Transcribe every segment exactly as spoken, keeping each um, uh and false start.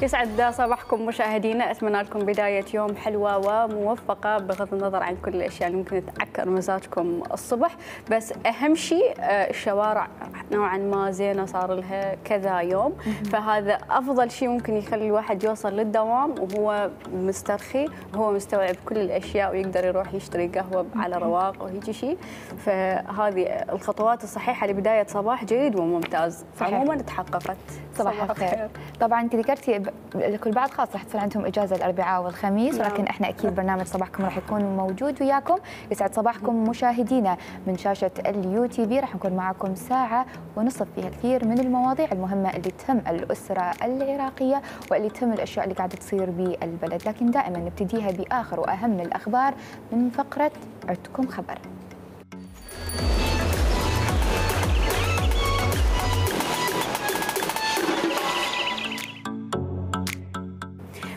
يسعد صباحكم مشاهدينا، اتمنى لكم بدايه يوم حلوه وموفقه بغض النظر عن كل الاشياء اللي ممكن تعكر مزاجكم الصبح، بس اهم شيء الشوارع نوعا ما زينه، صار لها كذا يوم، فهذا افضل شيء ممكن يخلي الواحد يوصل للدوام وهو مسترخي وهو مستوعب كل الاشياء ويقدر يروح يشتري قهوه على رواق وهيك شيء. فهذه الخطوات الصحيحه لبدايه صباح جيد وممتاز. عموما تحققت. صباح الخير. طبعا انت ذكرتي لكل بعض خاص راح تصير عندهم اجازه الاربعاء والخميس، ولكن احنا اكيد برنامج صباحكم راح يكون موجود وياكم. يسعد صباحكم مشاهدينا من شاشه اليو تي في، راح نكون معكم ساعه ونصف فيها كثير من المواضيع المهمه اللي تهم الاسره العراقيه واللي تهم الاشياء اللي قاعده تصير بالبلد، لكن دائما نبتديها باخر واهم الاخبار من فقره عدكم خبر.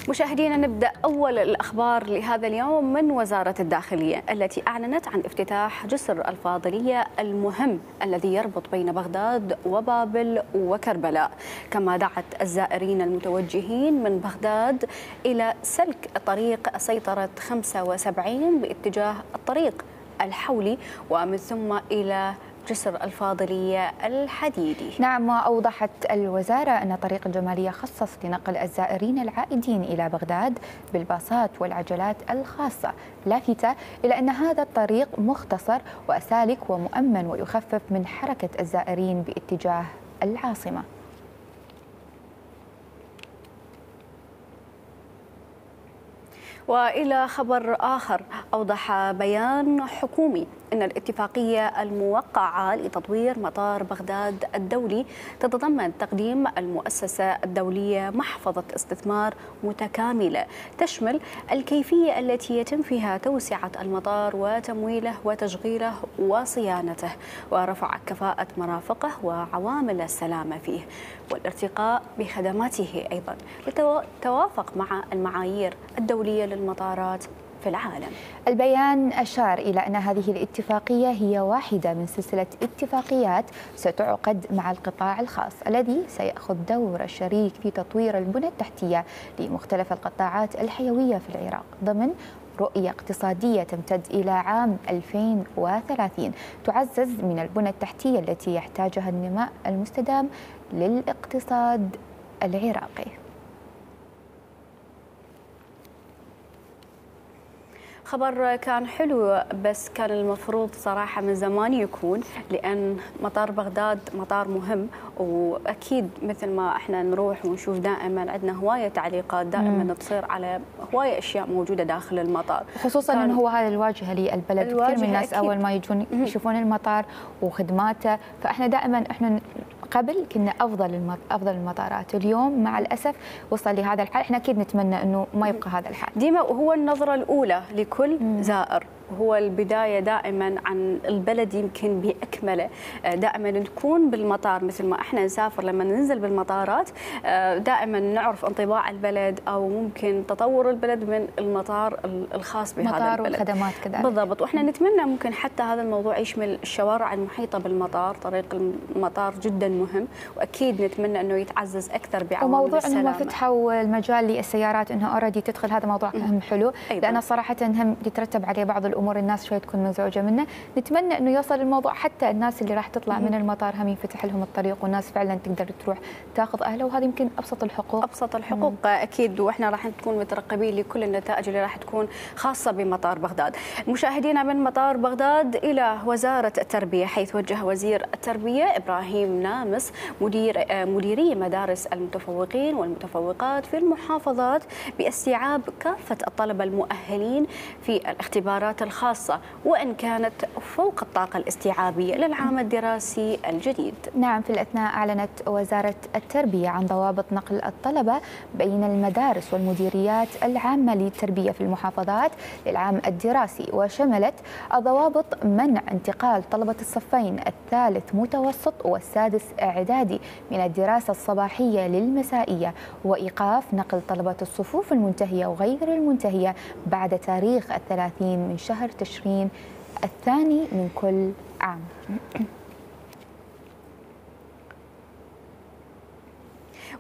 مشاهدينا، نبدأ أول الأخبار لهذا اليوم من وزارة الداخلية التي أعلنت عن افتتاح جسر الفاضلية المهم الذي يربط بين بغداد وبابل وكربلاء، كما دعت الزائرين المتوجهين من بغداد إلى سلك طريق سيطرة خمسة وسبعين باتجاه الطريق الحولي ومن ثم إلى جسر الفاضلية الحديدي. نعم، وأوضحت الوزارة أن طريق الجمالية خصص لنقل الزائرين العائدين إلى بغداد بالباصات والعجلات الخاصة، لافتة إلى أن هذا الطريق مختصر وسالك ومؤمن ويخفف من حركة الزائرين باتجاه العاصمة. وإلى خبر آخر، أوضح بيان حكومي أن الاتفاقية الموقعة لتطوير مطار بغداد الدولي تتضمن تقديم المؤسسة الدولية محفظة استثمار متكاملة تشمل الكيفية التي يتم فيها توسعة المطار وتمويله وتشغيله وصيانته ورفع كفاءة مرافقه وعوامل السلامة فيه والارتقاء بخدماته أيضا لتوافق مع المعايير الدولية للمطارات في العالم. البيان أشار إلى أن هذه الاتفاقية هي واحدة من سلسلة اتفاقيات ستعقد مع القطاع الخاص الذي سيأخذ دور الشريك في تطوير البنى التحتية لمختلف القطاعات الحيوية في العراق ضمن رؤية اقتصادية تمتد إلى عام ألفين وثلاثين تعزز من البنى التحتية التي يحتاجها النماء المستدام للاقتصاد العراقي. خبر كان حلو، بس كان المفروض صراحة من زمان يكون، لأن مطار بغداد مطار مهم، وأكيد مثل ما احنا نروح ونشوف دائما عندنا هواية تعليقات دائما مم. تصير على هواية أشياء موجودة داخل المطار، خصوصا أنه هو هذا الواجهة للبلد. كثير من الناس أكيد. أول ما يجون يشوفون المطار وخدماته، فاحنا دائما احنا قبل كنا افضل افضل المطارات، اليوم مع الاسف وصل لهذا الحال. احنا اكيد نتمنى انه ما يبقى هذا الحال. ديما وهو النظره الاولى لكل مم. زائر، هو البداية دائما عن البلد يمكن بأكمله. دائما نكون بالمطار مثل ما احنا نسافر، لما ننزل بالمطارات دائما نعرف انطباع البلد او ممكن تطور البلد من المطار الخاص بهذا مطار البلد. والخدمات كذلك. بالضبط، واحنا نتمنى ممكن حتى هذا الموضوع يشمل الشوارع المحيطة بالمطار. طريق المطار جدا مهم، واكيد نتمنى انه يتعزز اكثر بعوامل وموضوع السلامة. انهم فتحوا المجال للسيارات انها اوريدي تدخل، هذا موضوع هم حلو. أيضا. لان صراحة هم يترتب عليه بعض الامور الناس شوي تكون مزعوجه منه. نتمنى انه يوصل الموضوع حتى الناس اللي راح تطلع من المطار هم ينفتح لهم الطريق والناس فعلا تقدر تروح تاخذ اهلها، وهذه يمكن ابسط الحقوق. ابسط الحقوق مم. اكيد، واحنا راح نكون مترقبين لكل النتائج اللي راح تكون خاصه بمطار بغداد. مشاهدينا، من مطار بغداد الى وزاره التربيه، حيث وجه وزير التربيه ابراهيم نامس مدير مديري مدارس المتفوقين والمتفوقات في المحافظات باستيعاب كافه الطلبه المؤهلين في الاختبارات الخاصه، وإن كانت فوق الطاقة الاستيعابية للعام الدراسي الجديد. نعم، في الأثناء أعلنت وزارة التربية عن ضوابط نقل الطلبة بين المدارس والمديريات العامة للتربية في المحافظات للعام الدراسي، وشملت الضوابط منع انتقال طلبة الصفين الثالث متوسط والسادس إعدادي من الدراسة الصباحية للمسائية، وإيقاف نقل طلبة الصفوف المنتهية وغير المنتهية بعد تاريخ الثلاثين من شهر تشرين الثاني من كل عام.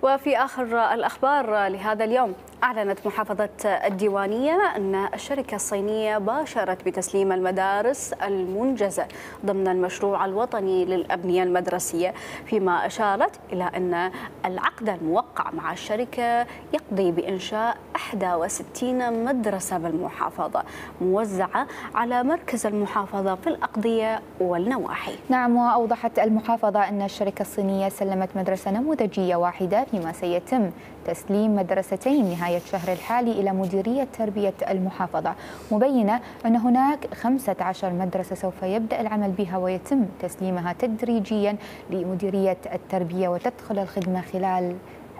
وفي آخر الأخبار لهذا اليوم، أعلنت محافظة الديوانية أن الشركة الصينية باشرت بتسليم المدارس المنجزة ضمن المشروع الوطني للأبنية المدرسية، فيما أشارت إلى أن العقد الموقع مع الشركة يقضي بإنشاء إحدى وستين مدرسة بالمحافظة موزعة على مركز المحافظة في الأقضية والنواحي. نعم، وأوضحت المحافظة أن الشركة الصينية سلمت مدرسة نموذجية واحدة، فيما سيتم تسليم مدرستين نهاية الشهر الحالي إلى مديرية تربية المحافظة، مبينة أن هناك خمسة عشر مدرسة سوف يبدأ العمل بها ويتم تسليمها تدريجيا لمديرية التربية وتدخل الخدمة خلال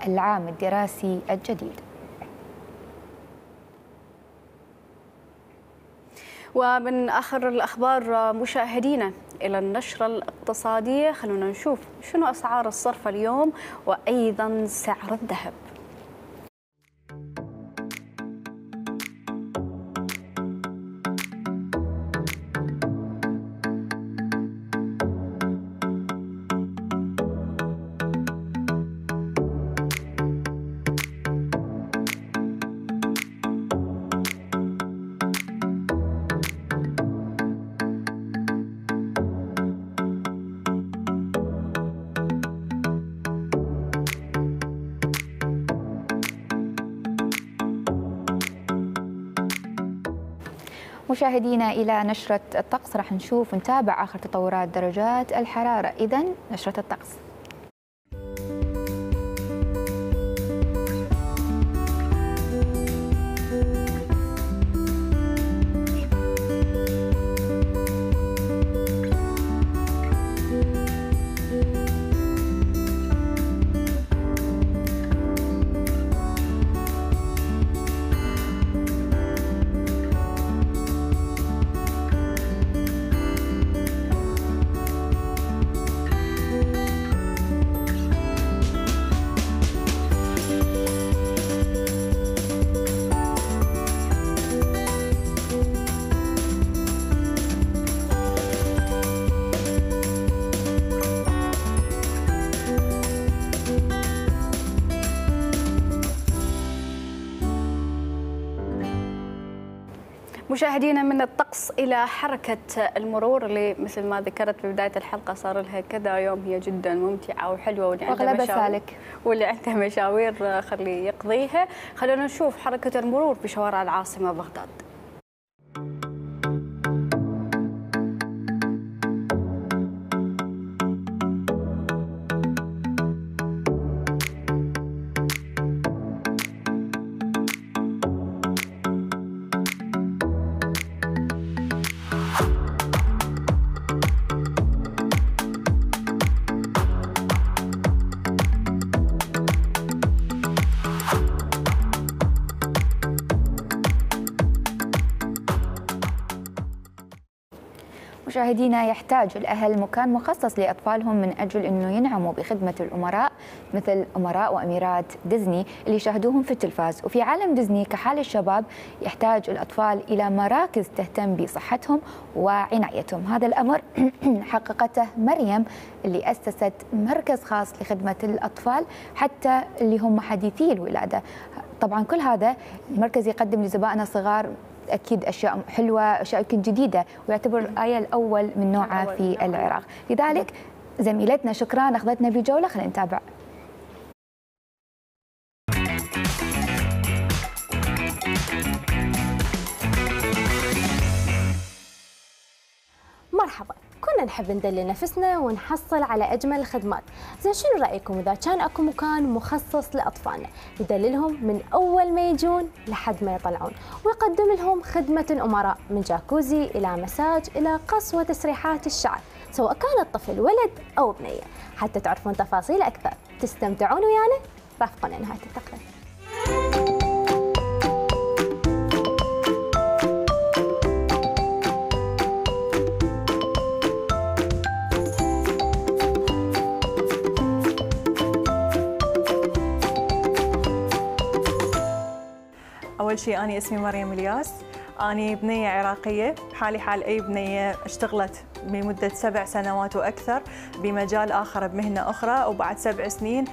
العام الدراسي الجديد. ومن آخر الأخبار مشاهدينا إلى النشرة الاقتصادية، خلونا نشوف شنو أسعار الصرف اليوم وأيضا سعر الذهب. مشاهدينا إلى نشرة الطقس، راح نشوف ونتابع آخر تطورات درجات الحرارة. إذن نشرة الطقس. مشاهدينا، من الطقس إلى حركة المرور اللي مثل ما ذكرت في بداية الحلقة صار لها كذا يوم هي جدا ممتعة وحلوة، واللي عنده مشاوير واللي عنده مشاوير خليه يقضيها. خلونا نشوف حركة المرور في شوارع العاصمة بغداد. مشاهدينا، يحتاج الأهل مكان مخصص لأطفالهم من أجل أنه ينعموا بخدمة الأمراء مثل أمراء وأميرات ديزني اللي يشاهدوهم في التلفاز. وفي عالم ديزني كحال الشباب يحتاج الأطفال إلى مراكز تهتم بصحتهم وعنايتهم. هذا الأمر حققته مريم اللي أسست مركز خاص لخدمة الأطفال حتى اللي هم حديثي الولادة. طبعا كل هذا المركز يقدم لزبائنه الصغار أكيد أشياء حلوة، أشياء يمكن جديدة، ويعتبر الآية الأول من نوعه في العراق. لذلك زميلتنا شكران أخذتنا بجولة، خلينا نتابع. مرحبا، كنا نحب ندلل نفسنا ونحصل على أجمل الخدمات. زين شنو رأيكم إذا كان أكو مكان مخصص لأطفالنا يدللهم من أول ما يجون لحد ما يطلعون، ويقدم لهم خدمة الأمراء من جاكوزي إلى مساج إلى قص وتسريحات الشعر، سواء كان الطفل ولد أو بنية. حتى تعرفون تفاصيل أكثر تستمتعون ويانا، رافقونا نهاية التقرير. أول شيء أنا اسمي مريم الياس، أنا بنية عراقية حالي حال أي بنية اشتغلت لمدة سبع سنوات وأكثر بمجال آخر بمهنة أخرى، وبعد سبع سنين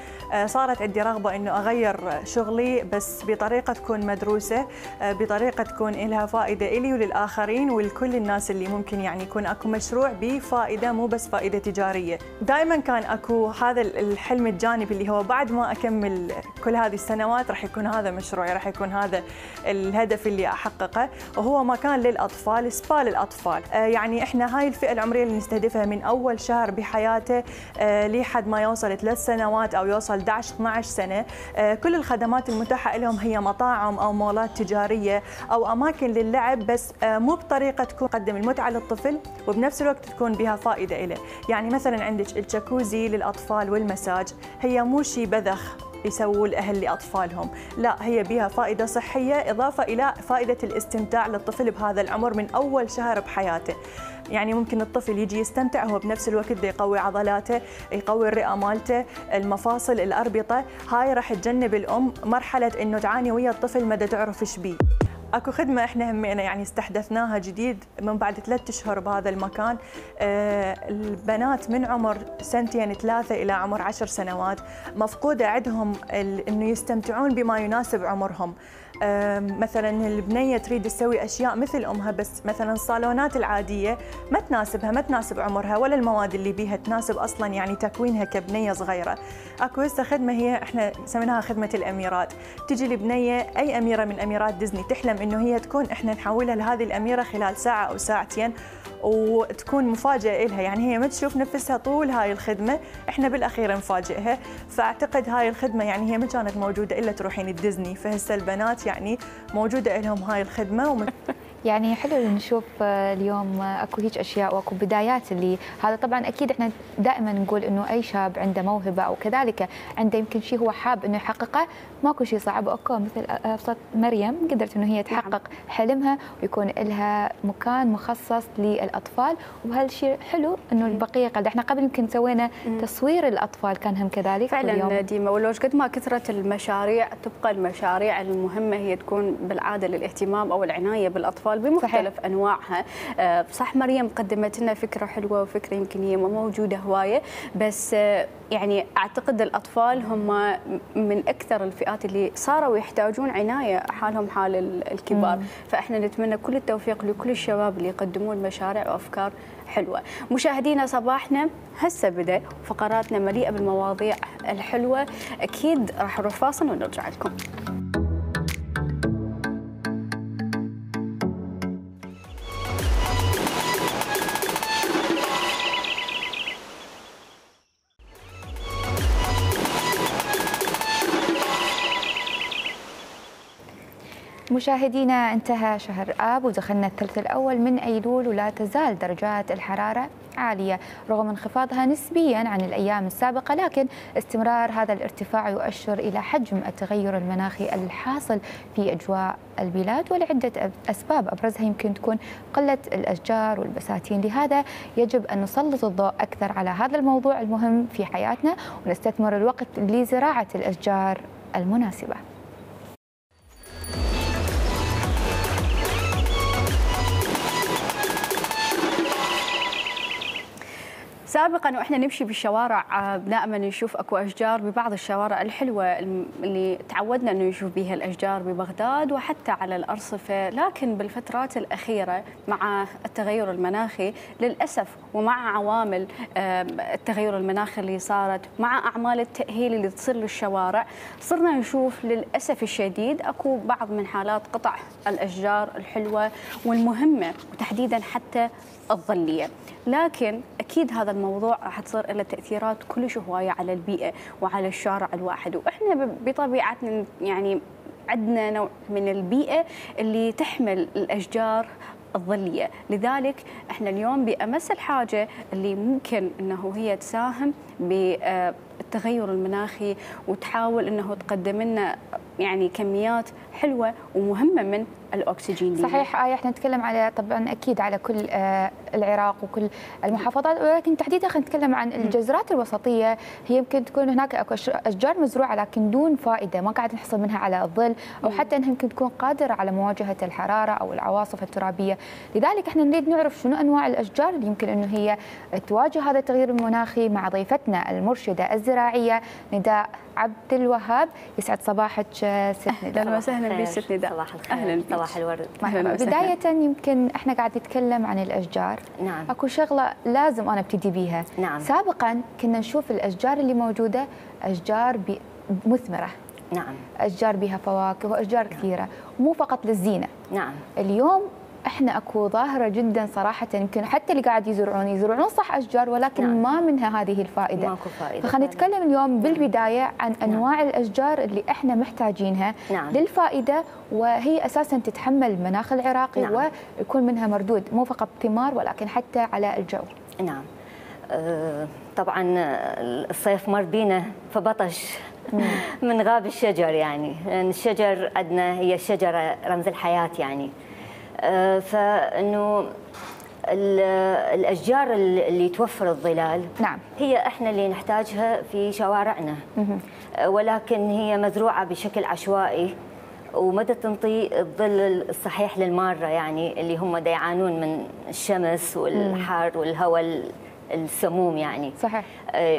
صارت عندي رغبة إنه أغير شغلي بس بطريقة تكون مدروسة، بطريقة تكون لها فائدة إلي وللآخرين ولكل الناس اللي ممكن يعني يكون أكو مشروع بفائدة مو بس فائدة تجارية. دائما كان أكو هذا الحلم الجانبي اللي هو بعد ما أكمل كل هذه السنوات راح يكون هذا مشروعي، راح يكون هذا الهدف اللي أحققه، وهو مكان للأطفال، سبا للأطفال. يعني إحنا هاي الفئة العمرية اللي نستهدفها من أول شهر بحياته لحد ما يوصل ثلاث سنوات أو يوصل إحدى عشر اثني عشر سنة. كل الخدمات المتاحة لهم هي مطاعم أو مولات تجارية أو أماكن للعب، بس مو بطريقة تكون تقدم المتعة للطفل وبنفس الوقت تكون بها فائدة له. يعني مثلا عندك الجاكوزي للأطفال والمساج، هي مو شيء بذخ يسووا الأهل لأطفالهم، لا هي بها فائدة صحية إضافة إلى فائدة الاستمتاع للطفل بهذا العمر من أول شهر بحياته. يعني ممكن الطفل يجي يستمتع هو بنفس الوقت ده يقوي عضلاته، يقوي الرئة مالته، المفاصل، الأربطة. هاي راح تجنب الأم مرحلة إنه تعاني ويا الطفل مدى تعرف إيش بيه. اكو خدمه احنا همينا يعني استحدثناها جديد من بعد ثلاث اشهر بهذا المكان. آه البنات من عمر سنتين ثلاثه الى عمر عشر سنوات مفقوده عندهم انه يستمتعون بما يناسب عمرهم. آه مثلا البنيه تريد تسوي اشياء مثل امها، بس مثلا الصالونات العاديه ما تناسبها، ما تناسب عمرها ولا المواد اللي بيها تناسب اصلا يعني تكوينها كبنيه صغيره. اكو هسه خدمه هي احنا سميناها خدمه الاميرات. تجي البنيه اي اميره من اميرات ديزني تحلم انه هي تكون، احنا نحولها لهذه الاميره خلال ساعه او ساعتين وتكون مفاجاه لها، يعني هي ما تشوف نفسها طول هاي الخدمه، احنا بالاخير نفاجئها. فاعتقد هاي الخدمه يعني هي ما كانت موجوده الا تروحين الديزني، فهسه البنات يعني موجوده لهم هاي الخدمه ومن يعني حلو نشوف اليوم اكو هيك اشياء واكو بدايات، اللي هذا طبعا اكيد احنا دائما نقول انه اي شاب عنده موهبه او كذلك عنده يمكن شيء هو حاب انه يحققه، ماكو شيء صعب. اوكي مثل ابسط مريم قدرت انه هي تحقق حلمها ويكون لها مكان مخصص للاطفال، وهالشيء حلو انه البقيه قد احنا قبل يمكن سوينا تصوير الاطفال كان هم كذلك فعلا ديما. ولو قد ما كثرت المشاريع تبقى المشاريع المهمه هي تكون بالعاده للاهتمام او العنايه بالاطفال بمختلف صحيح. انواعها. صح مريم قدمت لنا فكره حلوه وفكره يمكن هي ما موجوده هوايه، بس يعني اعتقد الاطفال هم من اكثر الفئات اللي صاروا يحتاجون عنايه حالهم حال الكبار. مم. فاحنا نتمنى كل التوفيق لكل الشباب اللي يقدمون مشاريع وافكار حلوه. مشاهدينا صباحنا هسه بدا، فقراتنا مليئه بالمواضيع الحلوه، اكيد راح نروح فاصل ونرجع لكم. مشاهدينا انتهى شهر آب ودخلنا الثلث الأول من أيلول، ولا تزال درجات الحرارة عالية رغم انخفاضها نسبيا عن الأيام السابقة، لكن استمرار هذا الارتفاع يؤشر إلى حجم التغير المناخي الحاصل في أجواء البلاد، ولعدة أسباب أبرزها يمكن تكون قلة الأشجار والبساتين. لهذا يجب أن نسلط الضوء أكثر على هذا الموضوع المهم في حياتنا ونستثمر الوقت لزراعة الأشجار المناسبة. سابقا واحنا نمشي بالشوارع دائما نشوف اكو اشجار ببعض الشوارع الحلوه اللي تعودنا انه نشوف بها الاشجار ببغداد وحتى على الارصفه، لكن بالفترات الاخيره مع التغير المناخي للاسف ومع عوامل التغير المناخي اللي صارت مع اعمال التاهيل اللي تصير للشوارع، صرنا نشوف للاسف الشديد اكو بعض من حالات قطع الاشجار الحلوه والمهمه وتحديدا حتى الظليه. لكن اكيد هذا الموضوع راح تصير له تاثيرات كلش هوايه على البيئه وعلى الشارع الواحد، واحنا بطبيعتنا يعني عندنا نوع من البيئه اللي تحمل الاشجار الظليه، لذلك احنا اليوم بامس الحاجه اللي ممكن انه هي تساهم بالتغير المناخي وتحاول انه تقدم لنا يعني كميات حلوه ومهمه من الاكسجين. صحيح آية، احنا نتكلم على طبعا اكيد على كل آه العراق وكل المحافظات، ولكن تحديدا خلينا نتكلم عن الجزرات الوسطيه. هي يمكن تكون هناك اكو اشجار مزروعه لكن دون فائده، ما قاعد نحصل منها على الظل، او حتى انها يمكن تكون قادره على مواجهه الحراره او العواصف الترابيه. لذلك احنا نريد نعرف شنو انواع الاشجار اللي يمكن انه هي تواجه هذا التغيير المناخي مع ضيفتنا المرشده الزراعيه نداء عبد الوهاب. يسعد صباحك ست نداء. اهلا وسهلا بك ست نداء. صباح الخير. اهلا بك. صباح الورد. بدايه يمكن احنا قاعد نتكلم عن الاشجار. نعم. اكو شغله لازم انا ابتدي بيها. نعم. سابقا كنا نشوف الاشجار اللي موجوده اشجار مثمره. نعم. اشجار بها فواكه واشجار كثيره، مو فقط للزينه. نعم. اليوم احنا اكو ظاهره جدا صراحه، يمكن حتى اللي قاعد يزرعون يزرعون صح اشجار، ولكن نعم. ما منها هذه الفائده. ماكو فائده. فخلينا نتكلم اليوم بالبدايه عن انواع نعم. الاشجار اللي احنا محتاجينها نعم. للفائده، وهي اساسا تتحمل المناخ العراقي نعم. ويكون منها مردود مو فقط ثمار ولكن حتى على الجو. نعم. أه طبعا الصيف مر بينا فبطش من غاب الشجر، يعني لان الشجر عندنا هي الشجره رمز الحياه يعني. أه فانه الاشجار اللي توفر الظلال نعم. هي احنا اللي نحتاجها في شوارعنا، ولكن هي مزروعه بشكل عشوائي ومدى تنطي الظل الصحيح للماره، يعني اللي هم دا يعانون من الشمس والحر والهواء السموم يعني. صحيح.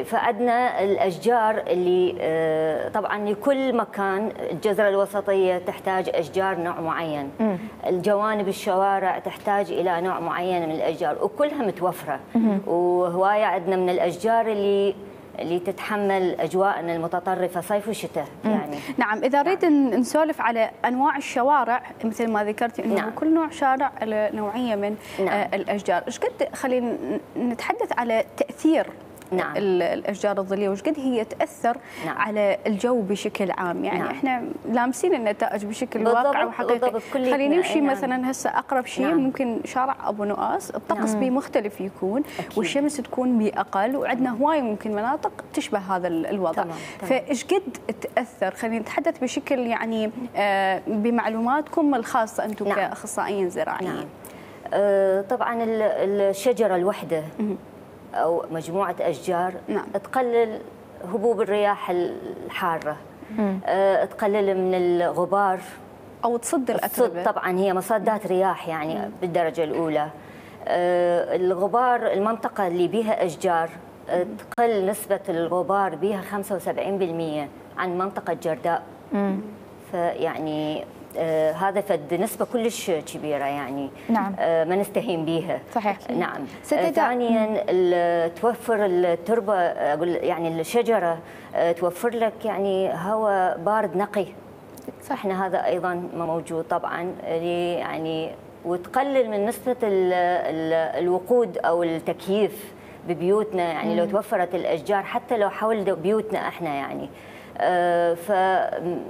فعندنا الاشجار اللي طبعا لكل مكان، الجزره الوسطيه تحتاج اشجار نوع معين، م. الجوانب الشوارع تحتاج الى نوع معين من الاشجار وكلها متوفره، وهوايه عندنا من الاشجار اللي اللي تتحمل اجواءنا المتطرفه صيف وشتاء يعني. نعم. اذا نريد نعم. نسولف على انواع الشوارع مثل ما ذكرتي انه نعم. كل نوع شارع له نوعيه من نعم. آه الاشجار، ايش قد خلينا نتحدث على تاثير نعم. الاشجار الظليه وش قد هي تاثر نعم. على الجو بشكل عام، يعني نعم. احنا لامسين النتائج بشكل واقعي وحقيقي. خلينا نمشي نعم. مثلا هسه اقرب شيء نعم. ممكن شارع ابو نؤاس، الطقس نعم. بيه مختلف يكون أكيد. والشمس تكون باقل، وعندنا هواي ممكن مناطق تشبه هذا الوضع. فايش قد تاثر؟ خلينا نتحدث بشكل يعني آه بمعلوماتكم الخاصه انتم نعم. كاخصائيين زراعيين. نعم. آه طبعا الشجره الوحده أو مجموعة أشجار نعم. تقلل هبوب الرياح الحارة، أه تقلل من الغبار أو تصد الأتربة. طبعا هي مصدات رياح يعني مم. بالدرجة الأولى. أه الغبار، المنطقة اللي بها أشجار أه تقل نسبة الغبار بها خمسة وسبعين بالمئة عن منطقة جرداء. مم. فيعني آه هذا فد نسبة كلش كبيرة يعني. نعم. آه ما نستهين بها. صحيح. نعم. آه ثانيا توفر التربة، أقول يعني الشجرة آه توفر لك يعني هواء بارد نقي. صح. احنا هذا أيضا موجود طبعا يعني، وتقلل من نسبة ال ال الوقود أو التكييف ببيوتنا يعني. مم. لو توفرت الأشجار حتى لو حول بيوتنا احنا يعني آه ف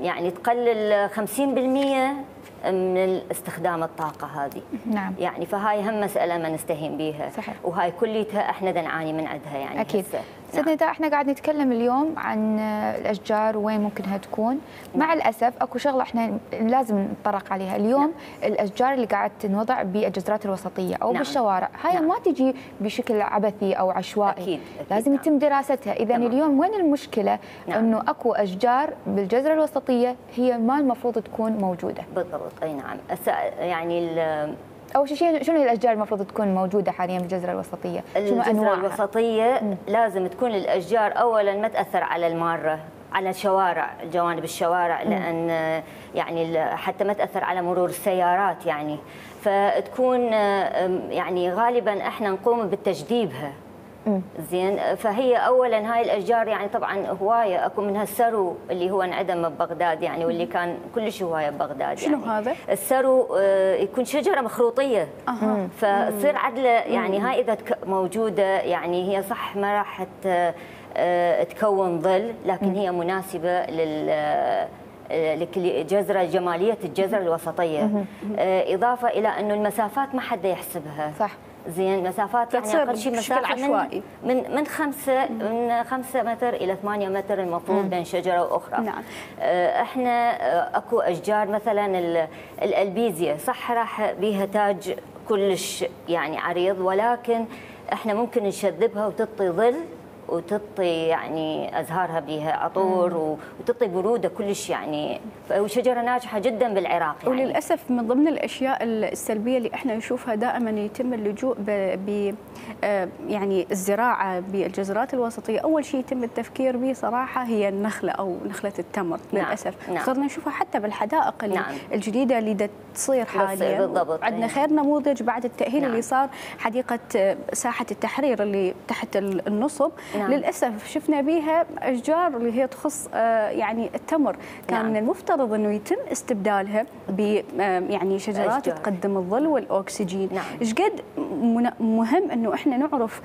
يعني تقلل خمسين بالمئة من استخدام الطاقة هذه. نعم. يعني فهاي هم مسألة ما نستهين بها. صحيح. وهاي كليتها احنا دا نعاني من عندها يعني. أكيد. سيدنا نداء، احنا قاعد نتكلم اليوم عن الأشجار وين ممكنها تكون. نعم. مع الأسف اكو شغلة احنا لازم نتطرق عليها اليوم. نعم. الأشجار اللي قاعد تنوضع بالجزرات الوسطية أو نعم. بالشوارع، هاي نعم. ما تجي بشكل عبثي أو عشوائي. أكيد. أكيد. لازم نعم. يتم دراستها. إذا اليوم وين المشكلة؟ نعم. إنه اكو أشجار بالجزرة الوسطية هي ما المفروض تكون موجودة. بالضبط. أي نعم. يعني أول شيء شنو هي الأشجار المفروض تكون موجودة حاليا بالجزرة الوسطية؟ شنو أنواعها؟ الجزرة الوسطية مم. لازم تكون الأشجار أولا ما تأثر على المارة، على الشوارع، جوانب الشوارع، مم. لأن يعني حتى ما تأثر على مرور السيارات يعني. فتكون يعني غالبا احنا نقوم بالتجديبها. زين. فهي اولا هاي الاشجار يعني طبعا هوايه، اكو منها السرو اللي هو انعدم ببغداد يعني، واللي كان كلش هوايه ببغداد. شنو يعني هذا؟ السرو يكون شجره مخروطيه. أه. فتصير عدله يعني. هاي اذا موجوده يعني هي صح ما راح تكون ظل، لكن هي مناسبه لل لجزرة جمالية الجزرة الوسطية. إضافة إلى أنه المسافات ما حد يحسبها. صح. زين مسافات يعني اقل شيء مسافه عشوائي. من من خمسة من خمسة متر الى ثمانية متر المفروض مم. بين شجره واخرى. نعم. احنا اكو اشجار مثلا الالبيزيا صح راح بيها تاج كلش يعني عريض، ولكن احنا ممكن نشذبها وتعطي ظل وتعطي يعني ازهارها بها عطور وتعطي بروده كلش يعني، وشجره ناجحه جدا بالعراق يعني. وللاسف من ضمن الاشياء السلبيه اللي احنا نشوفها دائما يتم اللجوء ب يعني الزراعه بالجزرات الوسطيه، اول شيء يتم التفكير به صراحه هي النخله او نخله التمر. نعم. للاسف نعم. صرنا نشوفها حتى بالحدائق نعم. الجديده اللي دا تصير حاليا. بالضبط. عندنا يعني. خير نموذج بعد التاهيل نعم. اللي صار حديقه ساحه التحرير اللي تحت النصب. نعم. للاسف شفنا بها اشجار اللي هي تخص يعني التمر، كان نعم. من المفترض انه يتم استبدالها ب يعني شجرات أشجار. تقدم الظل والاكسجين. نعم. ايش قد مهم انه احنا نعرف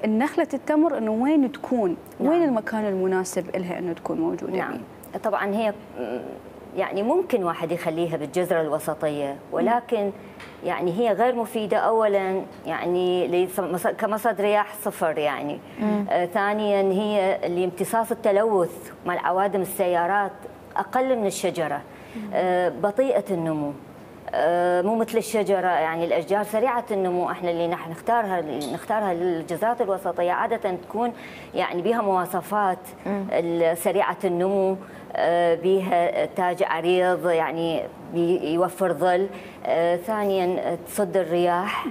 النخله التمر انه وين تكون، نعم. وين المكان المناسب لها انه تكون موجوده. نعم. بيه. طبعا هي يعني ممكن واحد يخليها بالجزره الوسطيه، ولكن يعني هي غير مفيدة أولاً يعني كمصدر رياح صفر يعني. آه ثانياً هي لامتصاص التلوث مع عوادم السيارات أقل من الشجرة. آه بطيئة النمو، آه مو مثل الشجرة يعني الأشجار سريعة النمو. احنا اللي نحن نختارها اللي نختارها للجزرات الوسطية عادة تكون يعني بها مواصفات سريعة النمو، بها تاج عريض يعني يوفر ظل، ثانيا تصد الرياح.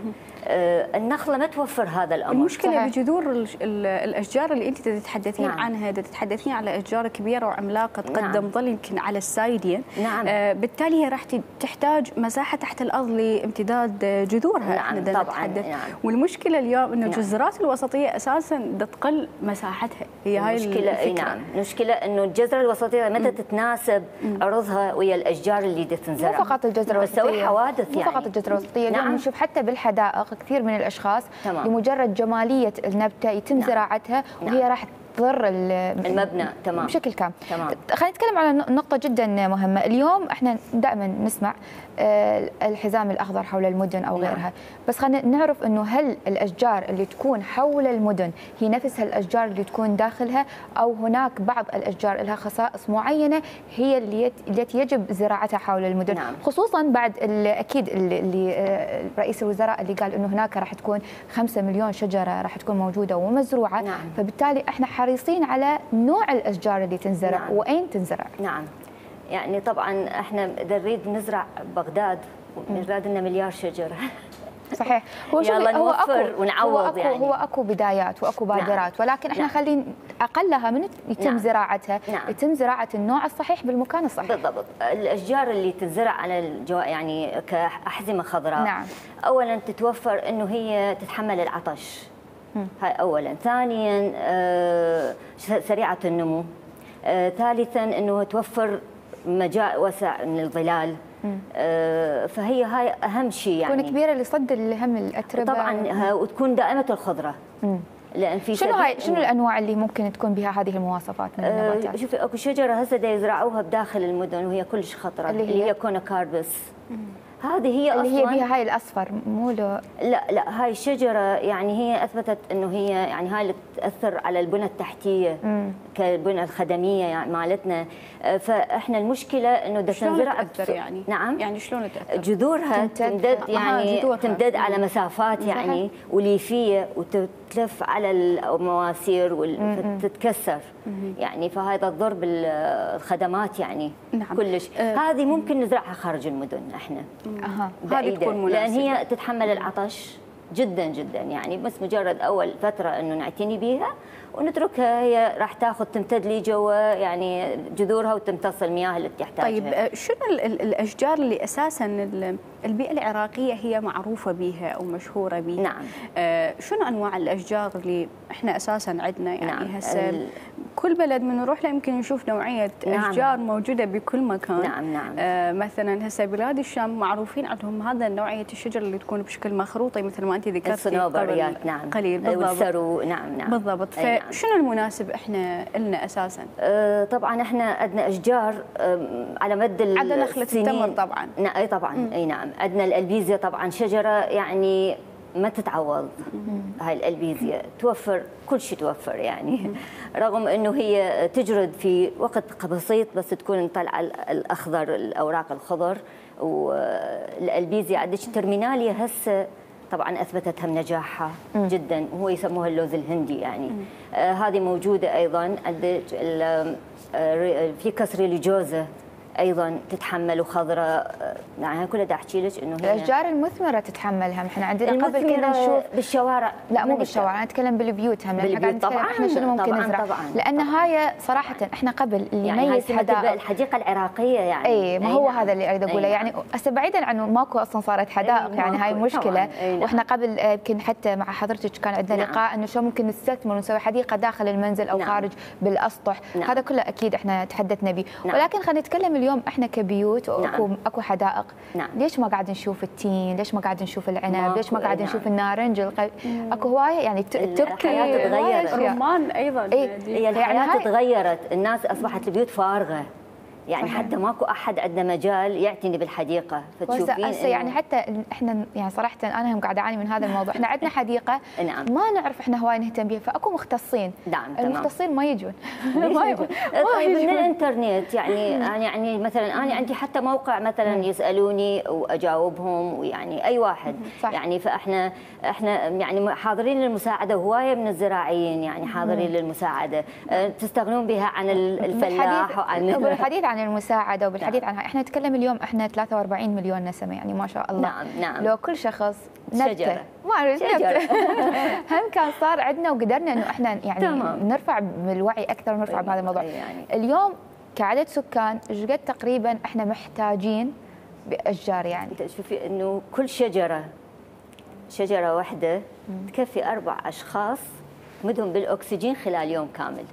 النخله ما توفر هذا الامر. المشكله صحيح. بجذور الاشجار اللي انت تتحدثين نعم. عنها، تتحدثين على اشجار كبيره وعملاقه تقدم نعم. ظل يمكن على السايدين. نعم. آه بالتالي هي راح تحتاج مساحه تحت الارض لامتداد جذورها. نعم احنا طبعا. نعم. والمشكله اليوم انه نعم. الجزرات الوسطيه اساسا تقل مساحتها، هي هاي المشكله. الفكره. نعم المشكله انه الجزره الوسطيه متى تتناسب عرضها ويا الاشجار اللي تنزرع. مو فقط الجزره الوسطيه، تسوي حوادث يعني. مو فقط الجزره الوسطيه، اليوم نعم. نشوف حتى بالحدائق كثير من الاشخاص تمام. لمجرد جماليه النبته يتم نعم. زراعتها وهي نعم. راح تضر المبنى تمام بشكل كامل. تمام. خلينا نتكلم على نقطه جدا مهمه. اليوم احنا دائما نسمع الحزام الاخضر حول المدن او غيرها، نعم. بس خلينا نعرف انه هل الاشجار اللي تكون حول المدن هي نفسها الاشجار اللي تكون داخلها، او هناك بعض الاشجار لها خصائص معينه هي اللي التي يجب زراعتها حول المدن. نعم. خصوصا بعد اكيد اللي رئيس الوزراء اللي قال انه هناك راح تكون خمسة مليون شجره راح تكون موجوده ومزروعه. نعم. فبالتالي احنا حريصين على نوع الاشجار اللي تنزرع. نعم. واين تنزرع. نعم يعني طبعا احنا اذا نريد نزرع بغداد نريد لنا مليار شجره. صحيح. هو يلا هو نوفر أكو ونعوض هو أكو يعني. هو اكو بدايات واكو بادرات. نعم. ولكن احنا نعم. خلينا اقلها من يتم نعم. زراعتها. نعم. يتم زراعه النوع الصحيح بالمكان الصحيح. بالضبط. الاشجار اللي تنزرع على الجو يعني كاحزمه خضراء. نعم. اولا تتوفر انه هي تتحمل العطش. م. هاي اولا. ثانيا آه سريعه النمو. آه ثالثا انه توفر مجال واسع من الظلال. آه فهي هاي اهم شيء يعني. تكون كبيره لصد الهم الاتربه طبعا وتكون دائمه الخضره. مم. لان في شنو هاي شنو الانواع اللي ممكن تكون بها هذه المواصفات من النباتات؟ آه شوفي اكو شجره هسه يزرعوها بداخل المدن وهي كلش خطره اللي هي, اللي هي كونوكاربس. مم. هذه هي اللي هي بها هاي الاصفر مو له. لا لا هاي الشجره يعني هي اثبتت انه هي يعني هاي اللي تاثر على البنى التحتيه مم. كالبنى الخدميه يعني مالتنا. فاحنا المشكله انه بدها تنزرع تاثر يعني. نعم يعني شلون تاثر؟ جذورها تمتد يعني تمتد على مسافات يعني وليفيه وتتلف على المواسير وتتكسر يعني، فهذا تضر بالخدمات يعني. نعم. كلش. أه هذه ممكن نزرعها خارج المدن احنا. اها هذه تكون مناسبه لان هي تتحمل العطش جدا جدا يعني، بس مجرد اول فتره انه نعتني بيها ونتركها هي راح تاخذ تمتد لي جوا يعني جذورها وتمتص المياه اللي تحتاجها. طيب شنو الاشجار اللي اساسا البيئه العراقيه هي معروفه بها او مشهوره بها؟ نعم. آه شنو انواع الاشجار اللي احنا اساسا عندنا يعني؟ نعم. هسه ال... كل بلد من نروح له يمكن نشوف نوعيه نعم. اشجار موجوده بكل مكان. نعم نعم. آه مثلا هسه بلاد الشام معروفين عندهم هذا نوعيه الشجر اللي تكون بشكل مخروطي مثل ما انت ذكرتي الصنوبريات. نعم. قليل بالضبط. والسرو. نعم نعم. بالضبط. فشنو المناسب احنا لنا اساسا؟ آه طبعا احنا عندنا اشجار آه على مد السنين. عندنا نخله التمر طبعا. اي طبعا. اي نعم. عندنا الالبيزيا طبعا شجره يعني ما تتعوض. هاي الألبيزيا توفر كل شيء، توفر يعني رغم أنه هي تجرد في وقت بسيط، بس تكون طالعة الأخضر، الأوراق الخضر. والألبيزيا عندك ترميناليا هسه طبعا اثبتتها نجاحها جدا، وهو يسموها اللوز الهندي يعني. آه هذه موجوده ايضا. عندك آه في كسريليجوزا ايضا تتحمل، وخضراء. يعني كلها دا احكي لك انه هي الاشجار المثمره تتحملها. احنا عندنا قبل كنا نشوف بالشوارع، لا مو بالشوارع، انا اتكلم بالبيوت هم. بالبيوت طبعا. احنا شنو ممكن طبعاً نزرع؟ طبعاً لان هاي صراحه احنا قبل اللي يعني يميز حدائق الحديقه العراقيه يعني. اي ما هو نعم. هذا اللي اريد اقوله يعني. هسه بعيدا عنه ماكو اصلا صارت حدائق يعني، هاي مشكله. نعم. واحنا قبل يمكن حتى مع حضرتك كان عندنا نعم. لقاء انه شلون ممكن نستثمر ونسوي حديقه داخل المنزل او نعم. خارج بالاسطح. نعم. هذا كله اكيد احنا تحدثنا به. نعم. ولكن خلينا نتكلم اليوم احنا كبيوت واكو نعم. اكو حدائق. نعم. ليش ما قاعد نشوف التين؟ ليش ما قاعد نشوف العنب؟ ليش ما قاعد نشوف نعم. النارنج؟ الق... اكو هوايه يعني التركي تغيرت، الرمان ايضا. هي الحياه يعني تغيرت، الناس اصبحت البيوت فارغه يعني. صحيح. حتى ماكو احد عندنا مجال يعتني بالحديقه، فتشوفين إنه يعني حتى احنا يعني صراحه انا هم قاعده اعاني من هذا الموضوع. احنا عندنا حديقه نعم. ما نعرف احنا هواي نهتم بها، فاكو مختصين. نعم. المختصين ما يجون. ما يجون طيب من الانترنت يعني. يعني مثلا انا عندي حتى موقع مثلا يسالوني واجاوبهم، ويعني اي واحد صح. يعني فاحنا احنا يعني حاضرين للمساعده، هوايه من الزراعيين يعني حاضرين للمساعده. تستغنون بها عن الفلاح وعن الحديث عن المساعده وبالحديث نعم. عنها. احنا نتكلم اليوم احنا ثلاثة وأربعين مليون نسمه يعني ما شاء الله. نعم نعم. لو كل شخص نبته ما اعرف هم كان صار عندنا وقدرنا انه احنا يعني تمام. نرفع بالوعي اكثر ونرفع بهذا الموضوع يعني. اليوم كعدد سكان ايش قد تقريبا احنا محتاجين باشجار يعني؟ شوفي انه كل شجره شجره واحده تكفي اربع اشخاص مدهم بالاكسجين خلال يوم كامل.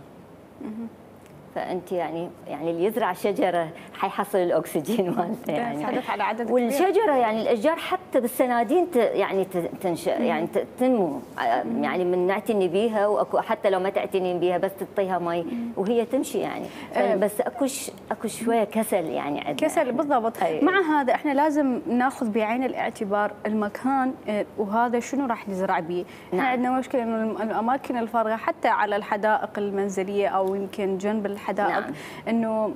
فانت يعني يعني اللي يزرع شجره حيحصل الاكسجين مالته يعني. على عدد والشجره يعني الاشجار حتى بالسنادين يعني تنشا يعني تنمو يعني من نعتني بيها، واكو حتى لو ما تعتنين بيها بس تعطيها مي وهي تمشي يعني. بس اكو اكو شويه كسل يعني عندنا كسل بالضبط. مع هذا احنا لازم ناخذ بعين الاعتبار المكان وهذا شنو راح نزرع به. احنا نعم. عندنا مشكله انه الاماكن الفارغه حتى على الحدائق المنزليه او يمكن جنب الحدائق نعم. انه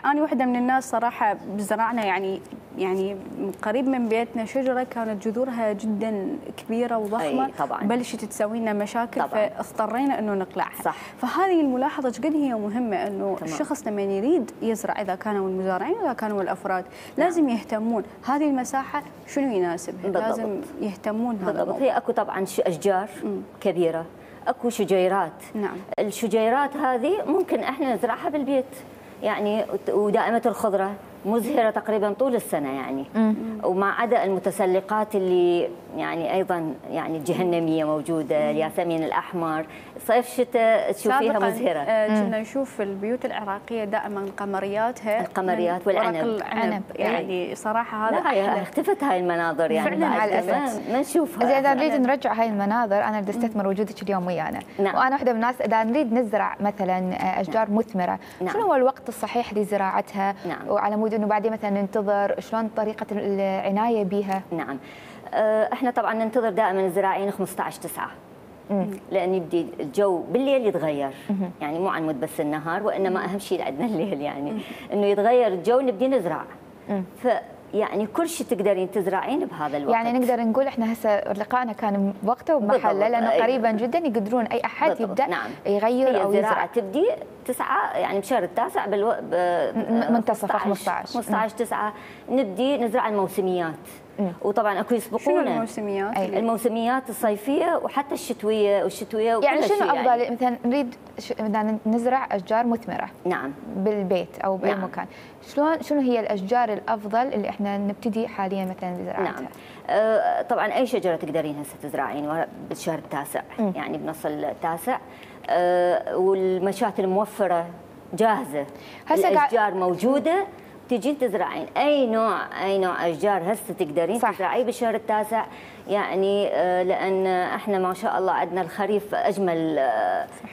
انا واحده من الناس صراحه زرعنا يعني يعني قريب من بيتنا شجره كانت جذورها جدا كبيره وضخمه، بلشت تسوي لنا مشاكل طبعاً. فاضطرينا انه نقلعها. صح. فهذه الملاحظه قد هي مهمه انه تمام. الشخص لما يريد يزرع اذا كانوا المزارعين اذا كانوا الافراد نعم. لازم يهتمون هذه المساحه شنو يناسبها، لازم يهتمون بهذا بالضبط. هي اكو طبعا اشجار م. كبيره، اكو شجيرات. نعم. الشجيرات هذه ممكن احنا نزرعها بالبيت يعني، ودائمه الخضره مزهره تقريبا طول السنه يعني. مم. وما عدا المتسلقات اللي يعني ايضا يعني الجهنميه موجوده، الياسمين الاحمر، صيف شتاء تشوفيها مزهره. كنا نشوف في البيوت العراقيه دائما قمرياتها القمريات والعنب العنب يعني صراحه هذا هاي اختفت هاي المناظر يعني فعلا على الاساس ما نشوفها. اذا نريد نرجع هاي المناظر انا بدي استثمر وجودك اليوم ويانا. نعم. وانا واحده من الناس اذا نريد نزرع مثلا اشجار نعم. مثمره نعم. شنو هو الوقت الصحيح لزراعتها؟ نعم. وعلى مود انه بعدين مثلا ننتظر شلون طريقه العنايه بها؟ نعم احنا طبعا ننتظر دائما الزراعيين خمسة عشر تسعة لان يبدي الجو بالليل يتغير مم. يعني مو عن مود بس النهار، وانما اهم شيء عندنا الليل يعني مم. انه يتغير الجو نبدي نزرع. ف يعني كل شيء تقدرين تزرعين بهذا الوقت. يعني نقدر نقول احنا هسه لقائنا كان بوقته وبمحله لانه قريبا جدا يقدرون اي احد بالضبط. يبدا نعم. يغير او يزرع. تبدي تسعة يعني بشهر التاسع بالو... ب... منتصف خمسة عشر خمسة عشر تسعة نبدي نزرع الموسميات. مم. وطبعا اكو يسبقونا. شنو الموسميات؟ أي. الموسميات الصيفيه وحتى الشتويه والشتويه يعني شنو افضل يعني. مثلا نريد مثلا نزرع اشجار مثمره نعم بالبيت او باي نعم. مكان، شلون شنو هي الاشجار الافضل اللي احنا نبتدي حاليا مثلا بزراعتها؟ نعم آه طبعا اي شجره تقدرين هسه تزرعين بالشهر التاسع م. يعني بنص التاسع آه والمشات الموفره جاهزه، الاشجار موجوده تجين تزرعين اي نوع اي نوع اشجار هسه تقدرين تزرعيه بالشهر التاسع يعني لان احنا ما شاء الله عندنا الخريف اجمل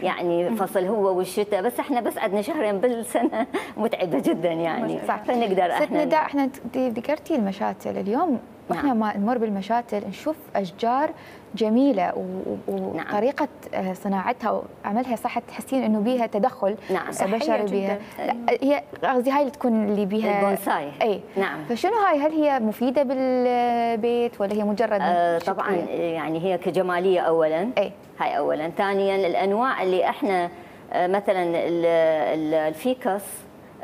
يعني فصل هو والشتاء، بس احنا بس عندنا شهرين بالسنه متعبه جدا يعني. صح. فنقدر احنا نداء احنا ذكرتي المشاتل اليوم واحنا نعم. ما نمر بالمشاتل نشوف اشجار جميله وطريقه نعم. صناعتها وعملها صح، تحسين انه بيها تدخل نعم. بشري بيها. هي قصدي هاي اللي تكون اللي بيها البونساي. اي نعم. فشنو هاي؟ هل هي مفيده بالبيت ولا هي مجرد آه طبعا يعني هي كجماليه اولا. اي هاي اولا. ثانيا الانواع اللي احنا آه مثلا الفيكس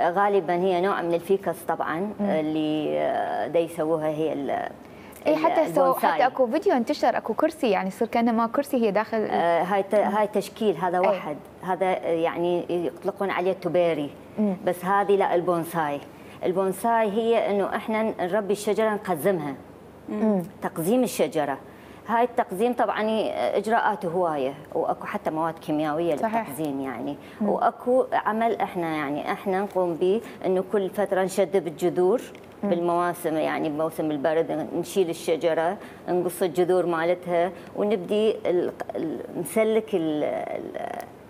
غالبا هي نوع من الفيكس طبعا م. اللي آه دا يسووها هي اي حتى سو حتى اكو فيديو انتشر اكو كرسي يعني يصير كانه ما كرسي هي داخل. آه هاي هاي تشكيل هذا واحد. أي. هذا يعني يطلقون عليه التوبيري. م. بس هذه لا البونساي. البونساي هي انه احنا نربي الشجره نقزمها. م. تقزيم الشجره. هاي التقزيم طبعا اجراءاته هوايه واكو حتى مواد كيميائيه للتقزيم يعني. م. واكو عمل احنا يعني احنا نقوم به انه كل فتره نشدد الجذور بالمواسم يعني بموسم البرد نشيل الشجره نقص الجذور مالتها ونبدي نسلك ال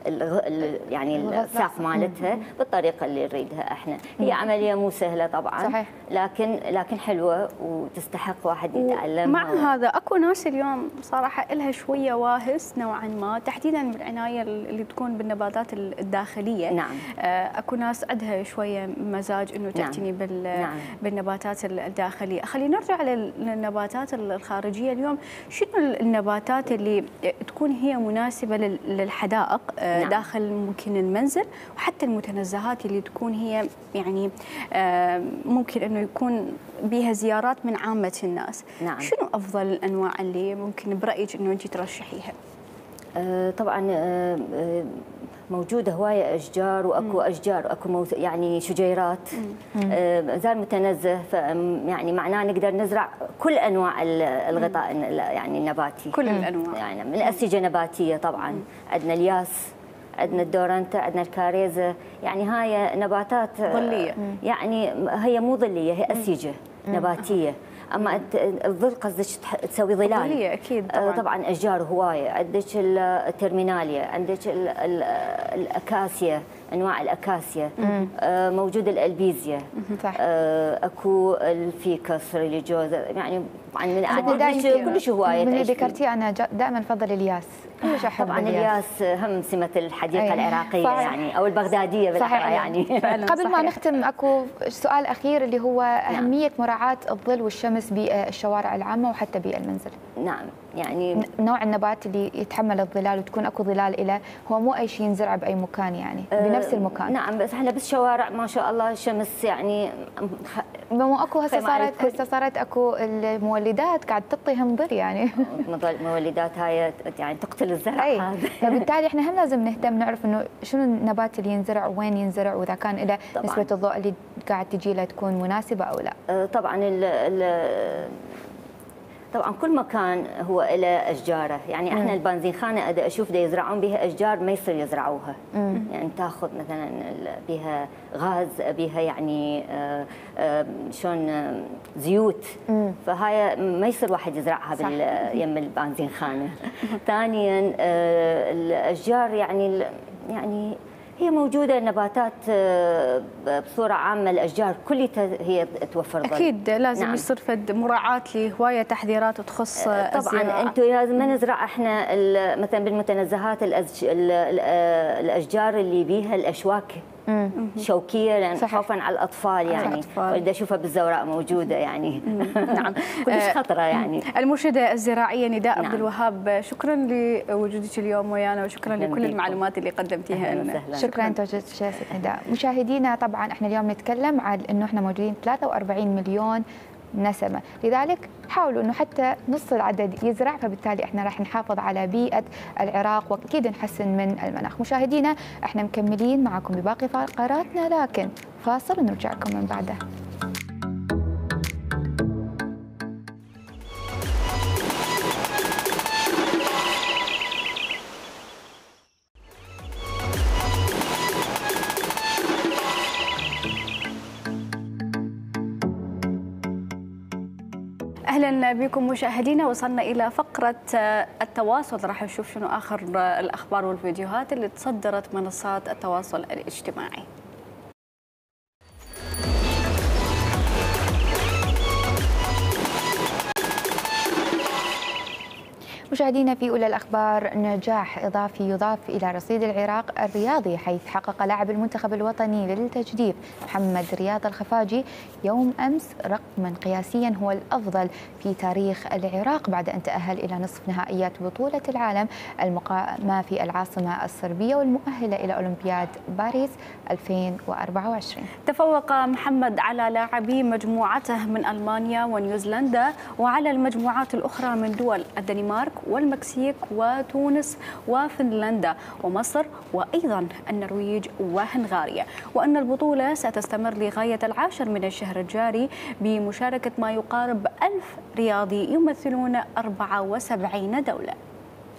ال يعني الساق مالتها بالطريقه اللي نريدها احنا. هي عمليه مو سهله طبعا. صحيح. لكن لكن حلوه وتستحق واحد يتعلمها. مع هذا اكو ناس اليوم صراحه لها شويه واهس نوعا ما تحديدا بالعنايه اللي تكون بالنباتات الداخليه. نعم. اكو ناس عندها شويه مزاج انه تعتني نعم. بال نعم. بالنباتات الداخليه. خلينا نرجع للنباتات الخارجيه اليوم. شنو النباتات اللي تكون هي مناسبه للحدائق نعم. داخل ممكن المنزل وحتى المتنزهات اللي تكون هي يعني ممكن انه يكون بها زيارات من عامه الناس. نعم. شنو افضل الانواع اللي ممكن برايك انه انت ترشحيها؟ آه طبعا آه موجوده هوايه اشجار واكو مم. اشجار واكو يعني شجيرات. آه زار متنزه يعني معناه نقدر نزرع كل انواع الغطاء مم. يعني النباتي. كل الانواع يعني من الاسجه نباتيه طبعا. مم. عندنا الياس، عندنا الدورنتا، عندنا الكاريزا، يعني هاي نباتات ظليه يعني هي مو ظليه هي اسيجه مم. نباتيه. اما الظل قصدك تسوي ظلال. ظليه اكيد طبعا. طبعا اشجار هوايه، عندك الترميناليا، عندك الاكاسيا، انواع الاكاسيا، آه موجود الالبيزيا. صح. آه اكو الفيكس ريليجيوزا يعني طبعا من عندك كلش هوايه. من اللي ذكرتيه انا كلش افضل الياس. كلش احب طبعا الياس هم سمه الحديقه أيه. العراقيه صحيح. يعني او البغداديه بالاحرى يعني. قبل صحيح. ما نختم اكو سؤال اخير اللي هو اهميه نعم. مراعاه الظل والشمس بالشوارع العامه وحتى بالمنزل. نعم يعني نوع النبات اللي يتحمل الظلال وتكون اكو ظلال له هو مو اي شيء ينزرع باي مكان يعني أه بنفس المكان. نعم بس احنا بالشوارع ما شاء الله الشمس يعني مو اكو هسه صارت هسه صارت اكو المولدات قاعد تعطيهم ظل يعني. المولدات هاي يعني تقتل الزرع هذا. فبالتالي احنا هم لازم نهتم نعرف انه شنو النبات اللي ينزرع وين ينزرع واذا كان له نسبه الضوء اللي قاعد تجي له تكون مناسبه او لا. أه طبعا ال ال طبعا كل مكان هو له اشجاره، يعني احنا البنزينخانه ادا اشوف دا يزرعون بها اشجار ما يصير يزرعوها. مم. يعني تاخذ مثلا بها غاز بها يعني آآ آآ شلون زيوت. مم. فهاي ما يصير واحد يزرعها يم البنزينخانه. ثانيا الاشجار يعني يعني هي موجودة نباتات بصورة عامة الأشجار كلها هي توفر ظل. أكيد لازم نعم. يصير فد مراعاة لهواية تحذيرات تخص طبعا الزراعة. أنتم لازم ما نزرع احنا مثلا بالمتنزهات الأشجار اللي بيها الأشواك مم. شوكيه لان خوفا على الاطفال يعني ولد اشوفها بالزوراء موجوده يعني. نعم كلش خطره يعني. المرشده الزراعيه نداء نعم. عبد الوهاب، شكرا لوجودك اليوم ويانا وشكرا لكل المعلومات اللي قدمتيها لنا. شكرا انت وجودك نداء. مشاهدينا طبعا احنا اليوم نتكلم عن انه احنا موجودين ثلاثة وأربعين مليون نسمة، لذلك حاولوا انه حتى نص العدد يزرع، فبالتالي احنا راح نحافظ على بيئة العراق واكيد نحسن من المناخ. مشاهدينا احنا مكملين معكم بباقي فقراتنا لكن فاصل ونرجع لكم من بعده. اهلا بكم مشاهدينا. وصلنا الى فقره التواصل، راح نشوف شنو اخر الاخبار والفيديوهات اللي تصدرت منصات التواصل الاجتماعي. مشاهدينا في أولى الأخبار، نجاح إضافي يضاف إلى رصيد العراق الرياضي، حيث حقق لاعب المنتخب الوطني للتجديف محمد رياض الخفاجي يوم أمس رقما قياسيا هو الأفضل في تاريخ العراق بعد أن تأهل إلى نصف نهائيات بطولة العالم المقامة في العاصمة الصربية والمؤهلة إلى أولمبياد باريس ألفين وأربعة وعشرين. تفوق محمد على لاعبي مجموعته من ألمانيا ونيوزيلندا وعلى المجموعات الأخرى من دول الدنمارك والمكسيك وتونس وفنلندا ومصر وأيضا النرويج وهنغاريا، وأن البطولة ستستمر لغاية العاشر من الشهر الجاري بمشاركة ما يقارب ألف رياضي يمثلون أربعة وسبعين دولة.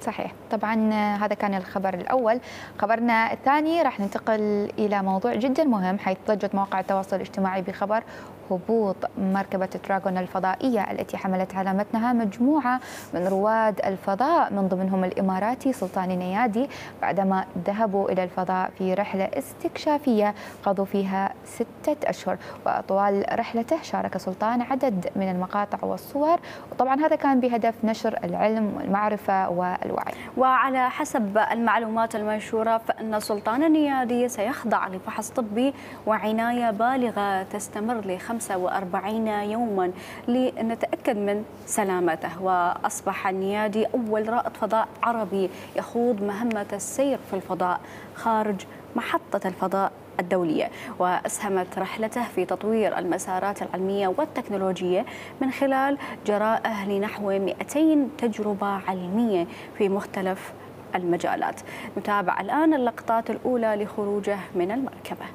صحيح، طبعا هذا كان الخبر الأول. خبرنا الثاني راح ننتقل إلى موضوع جدا مهم، حيث ضجت مواقع التواصل الاجتماعي بخبر هبوط مركبة دراغون الفضائية التي حملت على متنها مجموعة من رواد الفضاء من ضمنهم الإماراتي سلطان النيادي بعدما ذهبوا إلى الفضاء في رحلة استكشافية قضوا فيها ستة أشهر. وطوال رحلته شارك سلطان عدد من المقاطع والصور، وطبعا هذا كان بهدف نشر العلم والمعرفة والوعي. وعلى حسب المعلومات المنشورة فإن سلطان النيادي سيخضع لفحص طبي وعناية بالغة تستمر لخمسة خمسة وأربعين يوما لنتأكد من سلامته. وأصبح النيادي أول رائد فضاء عربي يخوض مهمة السير في الفضاء خارج محطة الفضاء الدولية، وأسهمت رحلته في تطوير المسارات العلمية والتكنولوجية من خلال جرائه لنحو مئتين تجربة علمية في مختلف المجالات. نتابع الآن اللقطات الأولى لخروجه من المركبة.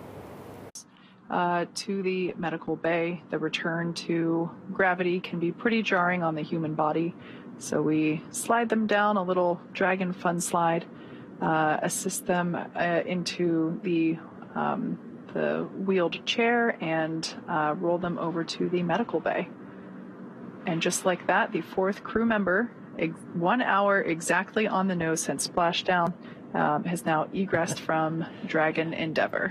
Uh, to the medical bay. The return to gravity can be pretty jarring on the human body, so we slide them down a little Dragon Fun slide, uh, assist them uh, into the, um, the wheeled chair and uh, roll them over to the medical bay. And just like that, the fourth crew member, one hour exactly on the nose since splashdown, um, has now egressed from Dragon Endeavour.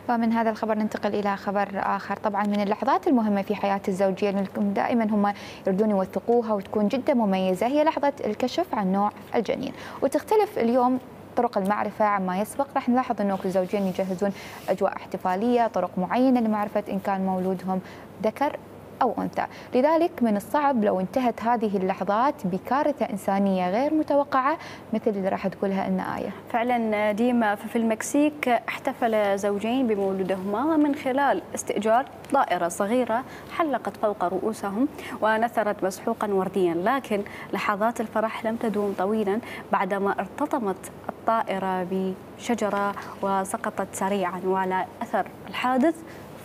ومن هذا الخبر ننتقل إلى خبر آخر. طبعا من اللحظات المهمة في حياة الزوجية اللي دائما هم يردون يوثقوها وتكون جدا مميزة هي لحظة الكشف عن نوع الجنين، وتختلف اليوم طرق المعرفة عما يسبق. راح نلاحظ أنه كل زوجين يجهزون أجواء احتفالية، طرق معينة لمعرفة إن كان مولودهم ذكر أو أنثى. لذلك من الصعب لو انتهت هذه اللحظات بكارثة إنسانية غير متوقعة مثل اللي راح تقولها إن آية. فعلا ديما في المكسيك احتفل زوجين بمولودهما من خلال استئجار طائرة صغيرة حلقت فوق رؤوسهم ونثرت مسحوقا ورديا، لكن لحظات الفرح لم تدوم طويلا بعدما ارتطمت الطائرة بشجرة وسقطت سريعا، وعلى أثر الحادث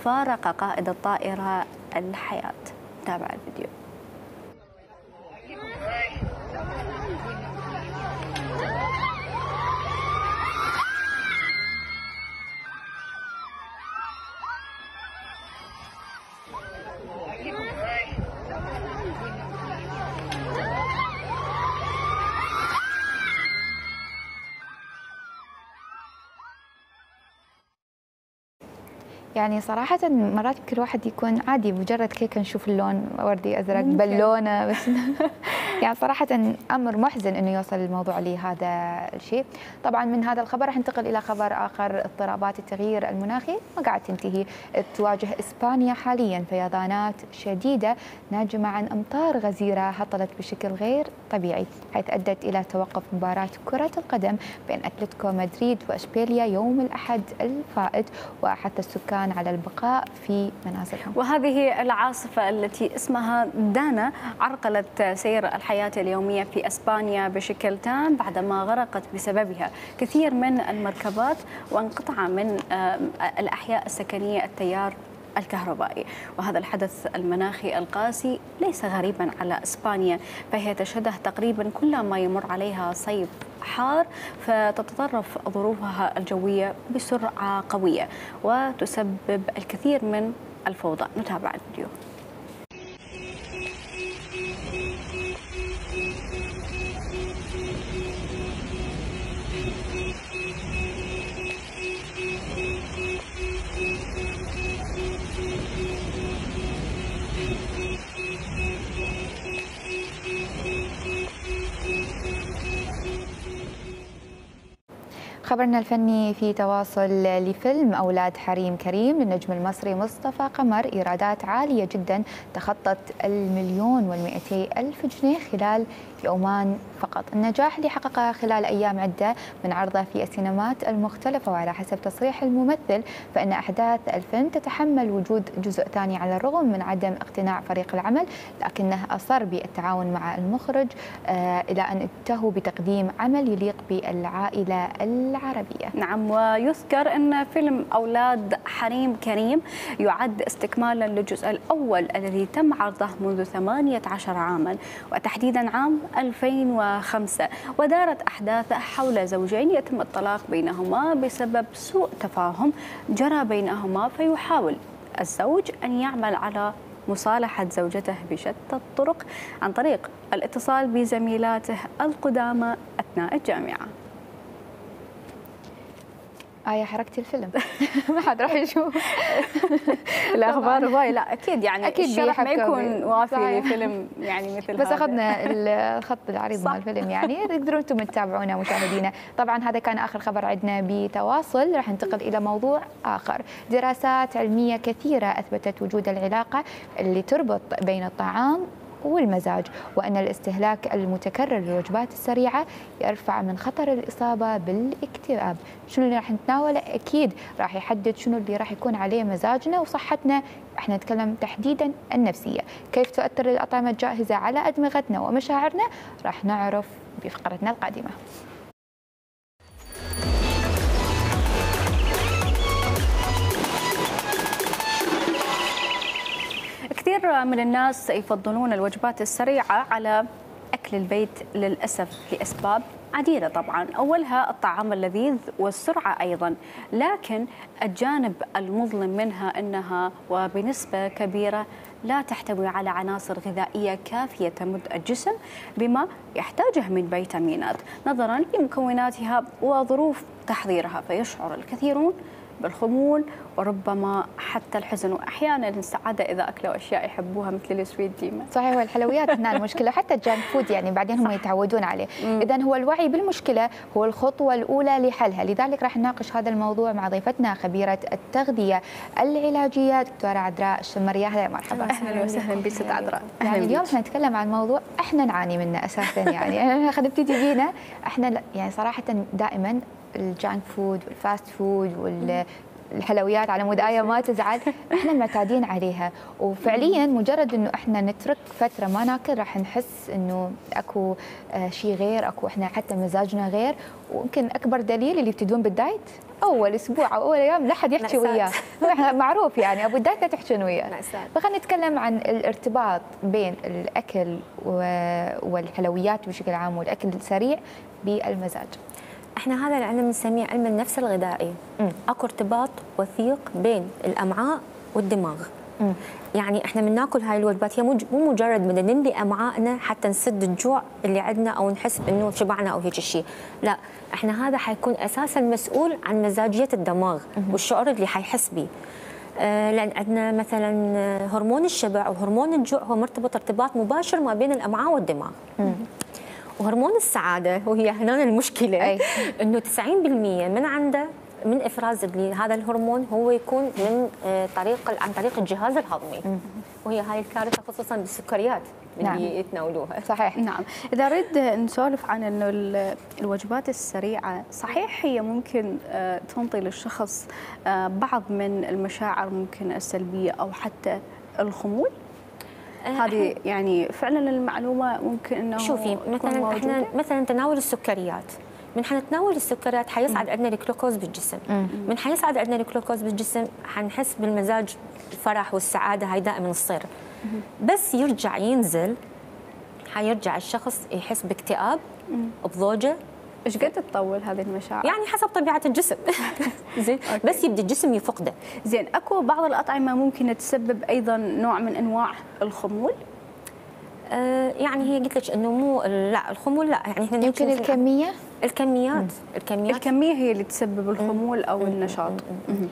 فارق قائد الطائرة الحياة. تابع الفيديو. يعني صراحة مرات كل واحد يكون عادي مجرد كيكة نشوف اللون وردي أزرق بالونة بس يعني صراحة أمر محزن أنه يوصل الموضوع لهذا الشيء. طبعا من هذا الخبر راح ننتقل إلى خبر آخر. اضطرابات التغيير المناخي ما قاعد تنتهي، تواجه إسبانيا حاليا فيضانات شديدة ناجمة عن أمطار غزيرة هطلت بشكل غير طبيعي، حيث أدت إلى توقف مباراة كرة القدم بين أتلتيكو مدريد وإشبيليا يوم الأحد الفائت، وحتى السكان على البقاء في منازلهم. وهذه العاصفة التي اسمها دانا عرقلت سير الحياة اليومية في إسبانيا بشكل تام بعدما غرقت بسببها كثير من المركبات وانقطع من الأحياء السكنية التيار الكهربائي. وهذا الحدث المناخي القاسي ليس غريبا على إسبانيا، فهي تشهده تقريبا كل ما يمر عليها صيف حار، فتتطرف ظروفها الجوية بسرعة قوية وتسبب الكثير من الفوضى. نتابع الفيديو. خبرنا الفني في تواصل لفيلم أولاد حريم كريم للنجم المصري مصطفى قمر إيرادات عالية جدا تخطت المليون والمئتي ألف جنيه خلال يومان فقط. النجاح اللي حققه خلال أيام عدة من عرضه في السينمات المختلفة، وعلى حسب تصريح الممثل فإن أحداث الفيلم تتحمل وجود جزء ثاني على الرغم من عدم اقتناع فريق العمل، لكنه أصر بالتعاون مع المخرج آه إلى أن انتهوا بتقديم عمل يليق بالعائلة العربية. نعم، ويذكر أن فيلم أولاد حريم كريم يعد استكمالا للجزء الأول الذي تم عرضه منذ ثمانية عشر عاما وتحديدا عام ألفين وخمسة، ودارت أحداثه حول زوجين يتم الطلاق بينهما بسبب سوء تفاهم جرى بينهما، فيحاول الزوج أن يعمل على مصالحة زوجته بشتى الطرق عن طريق الاتصال بزميلاته القدامى أثناء الجامعة. آية حركتي الفيلم ما حد راح يشوف الأخبار هواي. لا أكيد يعني أكيد الشرح ما يكون وافي لفيلم يعني مثل بس هذا. أخذنا الخط العريض مال الفيلم، يعني تقدرون أنتم تتابعونا مشاهدينا. طبعا هذا كان آخر خبر عندنا بتواصل. راح ننتقل إلى موضوع آخر. دراسات علمية كثيرة أثبتت وجود العلاقة اللي تربط بين الطعام والمزاج، وأن الاستهلاك المتكرر للوجبات السريعة يرفع من خطر الإصابة بالاكتئاب. شنو اللي راح نتناوله؟ أكيد راح يحدد شنو اللي راح يكون عليه مزاجنا وصحتنا. احنا نتكلم تحديدا النفسية. كيف تؤثر الأطعمة الجاهزة على أدمغتنا ومشاعرنا؟ راح نعرف بفقرتنا القادمة. كثير من الناس يفضلون الوجبات السريعة على أكل البيت للأسف لأسباب عديدة. طبعا أولها الطعام اللذيذ والسرعة أيضا، لكن الجانب المظلم منها أنها وبنسبة كبيرة لا تحتوي على عناصر غذائية كافية تمد الجسم بما يحتاجه من فيتامينات نظرا لمكوناتها وظروف تحضيرها، فيشعر الكثيرون بالخمول وربما حتى الحزن، واحيانا السعاده اذا اكلوا اشياء يحبوها مثل السويت ديما. صحيح، والحلويات هنا المشكله، حتى الجانك فود يعني بعدين هم يتعودون عليه. اذا هو الوعي بالمشكله هو الخطوه الاولى لحلها. لذلك راح نناقش هذا الموضوع مع ضيفتنا خبيره التغذيه العلاجيه دكتوره عذراء الشمريه. اهلا مرحبا. اهلا وسهلا بك ست عذراء. يعني اليوم احنا نتكلم عن موضوع احنا نعاني منه اساسا، يعني خلينا نبتدي بينا. احنا يعني صراحه دائما الجانك فود والفاست فود والحلويات على مود آية ما تزعل، احنا معتادين عليها، وفعليا مجرد انه احنا نترك فتره ما ناكل راح نحس انه اكو شيء غير، اكو احنا حتى مزاجنا غير. ويمكن اكبر دليل اللي يبتدون بالدايت اول اسبوع او اول ايام لا حد يحكي وياه، معروف يعني ابو الدايت لا تحكون وياه. فخلينا نتكلم عن الارتباط بين الاكل والحلويات بشكل عام والاكل السريع بالمزاج. احنا هذا العلم نسميه علم النفس الغذائي. م. اكو ارتباط وثيق بين الامعاء والدماغ. م. يعني احنا من ناكل هاي الوجبات هي مو مجرد من نملي امعائنا حتى نسد الجوع اللي عندنا او نحس انه شبعنا او هيك شيء، لا، احنا هذا حيكون اساسا مسؤول عن مزاجيه الدماغ م. والشعور اللي حيحس به. آه لان عندنا مثلا هرمون الشبع وهرمون الجوع هو مرتبط ارتباط مباشر ما بين الامعاء والدماغ. م. وهرمون السعاده وهي هنا المشكله أي. انه تسعين بالمئة من عنده من افراز هذا الهرمون هو يكون من طريق عن طريق الجهاز الهضمي، م. وهي هاي الكارثه خصوصا بالسكريات اللي نعم. يتناولوها. صحيح. نعم، اذا نريد نسولف عن انه الوجبات السريعه، صحيح هي ممكن تنطي للشخص بعض من المشاعر ممكن السلبيه او حتى الخمول. هذه يعني فعلا المعلومه ممكن انه شوفي مثلا احنا مثلا تناول السكريات، من حنتناول السكريات حيصعد عندنا الجلوكوز بالجسم، مم. من حيصعد عندنا الجلوكوز بالجسم حنحس بالمزاج الفرح والسعاده، هاي دائما تصير. بس يرجع ينزل حيرجع الشخص يحس باكتئاب، بضوجه. ايش قد تطول هذه المشاعر؟ يعني حسب طبيعه الجسم. زين، بس يبدا الجسم يفقده. زين، اكو بعض الاطعمه ممكن تسبب ايضا نوع من انواع الخمول؟ آه يعني هي قلت لك انه مو لا الخمول لا، يعني احنا يمكن الكميه الكميات مم. الكميات الكميه هي اللي تسبب الخمول او مم. النشاط. مم.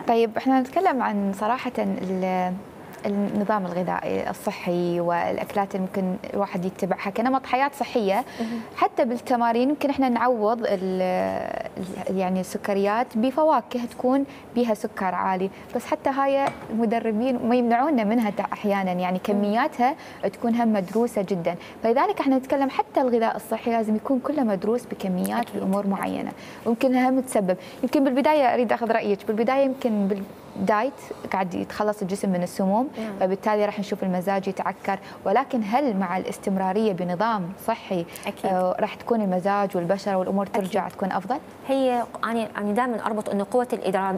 طيب احنا نتكلم عن صراحه النظام الغذائي الصحي والاكلات اللي ممكن الواحد يتبعها كنمط حياه صحيه، حتى بالتمارين يمكن احنا نعوض يعني السكريات بفواكه تكون بها سكر عالي، بس حتى هاي المدربين ما يمنعونا منها احيانا، يعني كمياتها تكون هم مدروسه جدا، فلذلك احنا نتكلم حتى الغذاء الصحي لازم يكون كله مدروس بكميات بامور معينه، ويمكن هم تسبب، يمكن بالبدايه اريد اخذ رايك، بالبدايه يمكن بالدايت قاعد يتخلص الجسم من السموم، فبالتالي راح نشوف المزاج يتعكر، ولكن هل مع الاستمراريه بنظام صحي آه راح تكون المزاج والبشره والامور ترجع أكيد. تكون افضل؟ هي انا انا دائما اربط انه قوه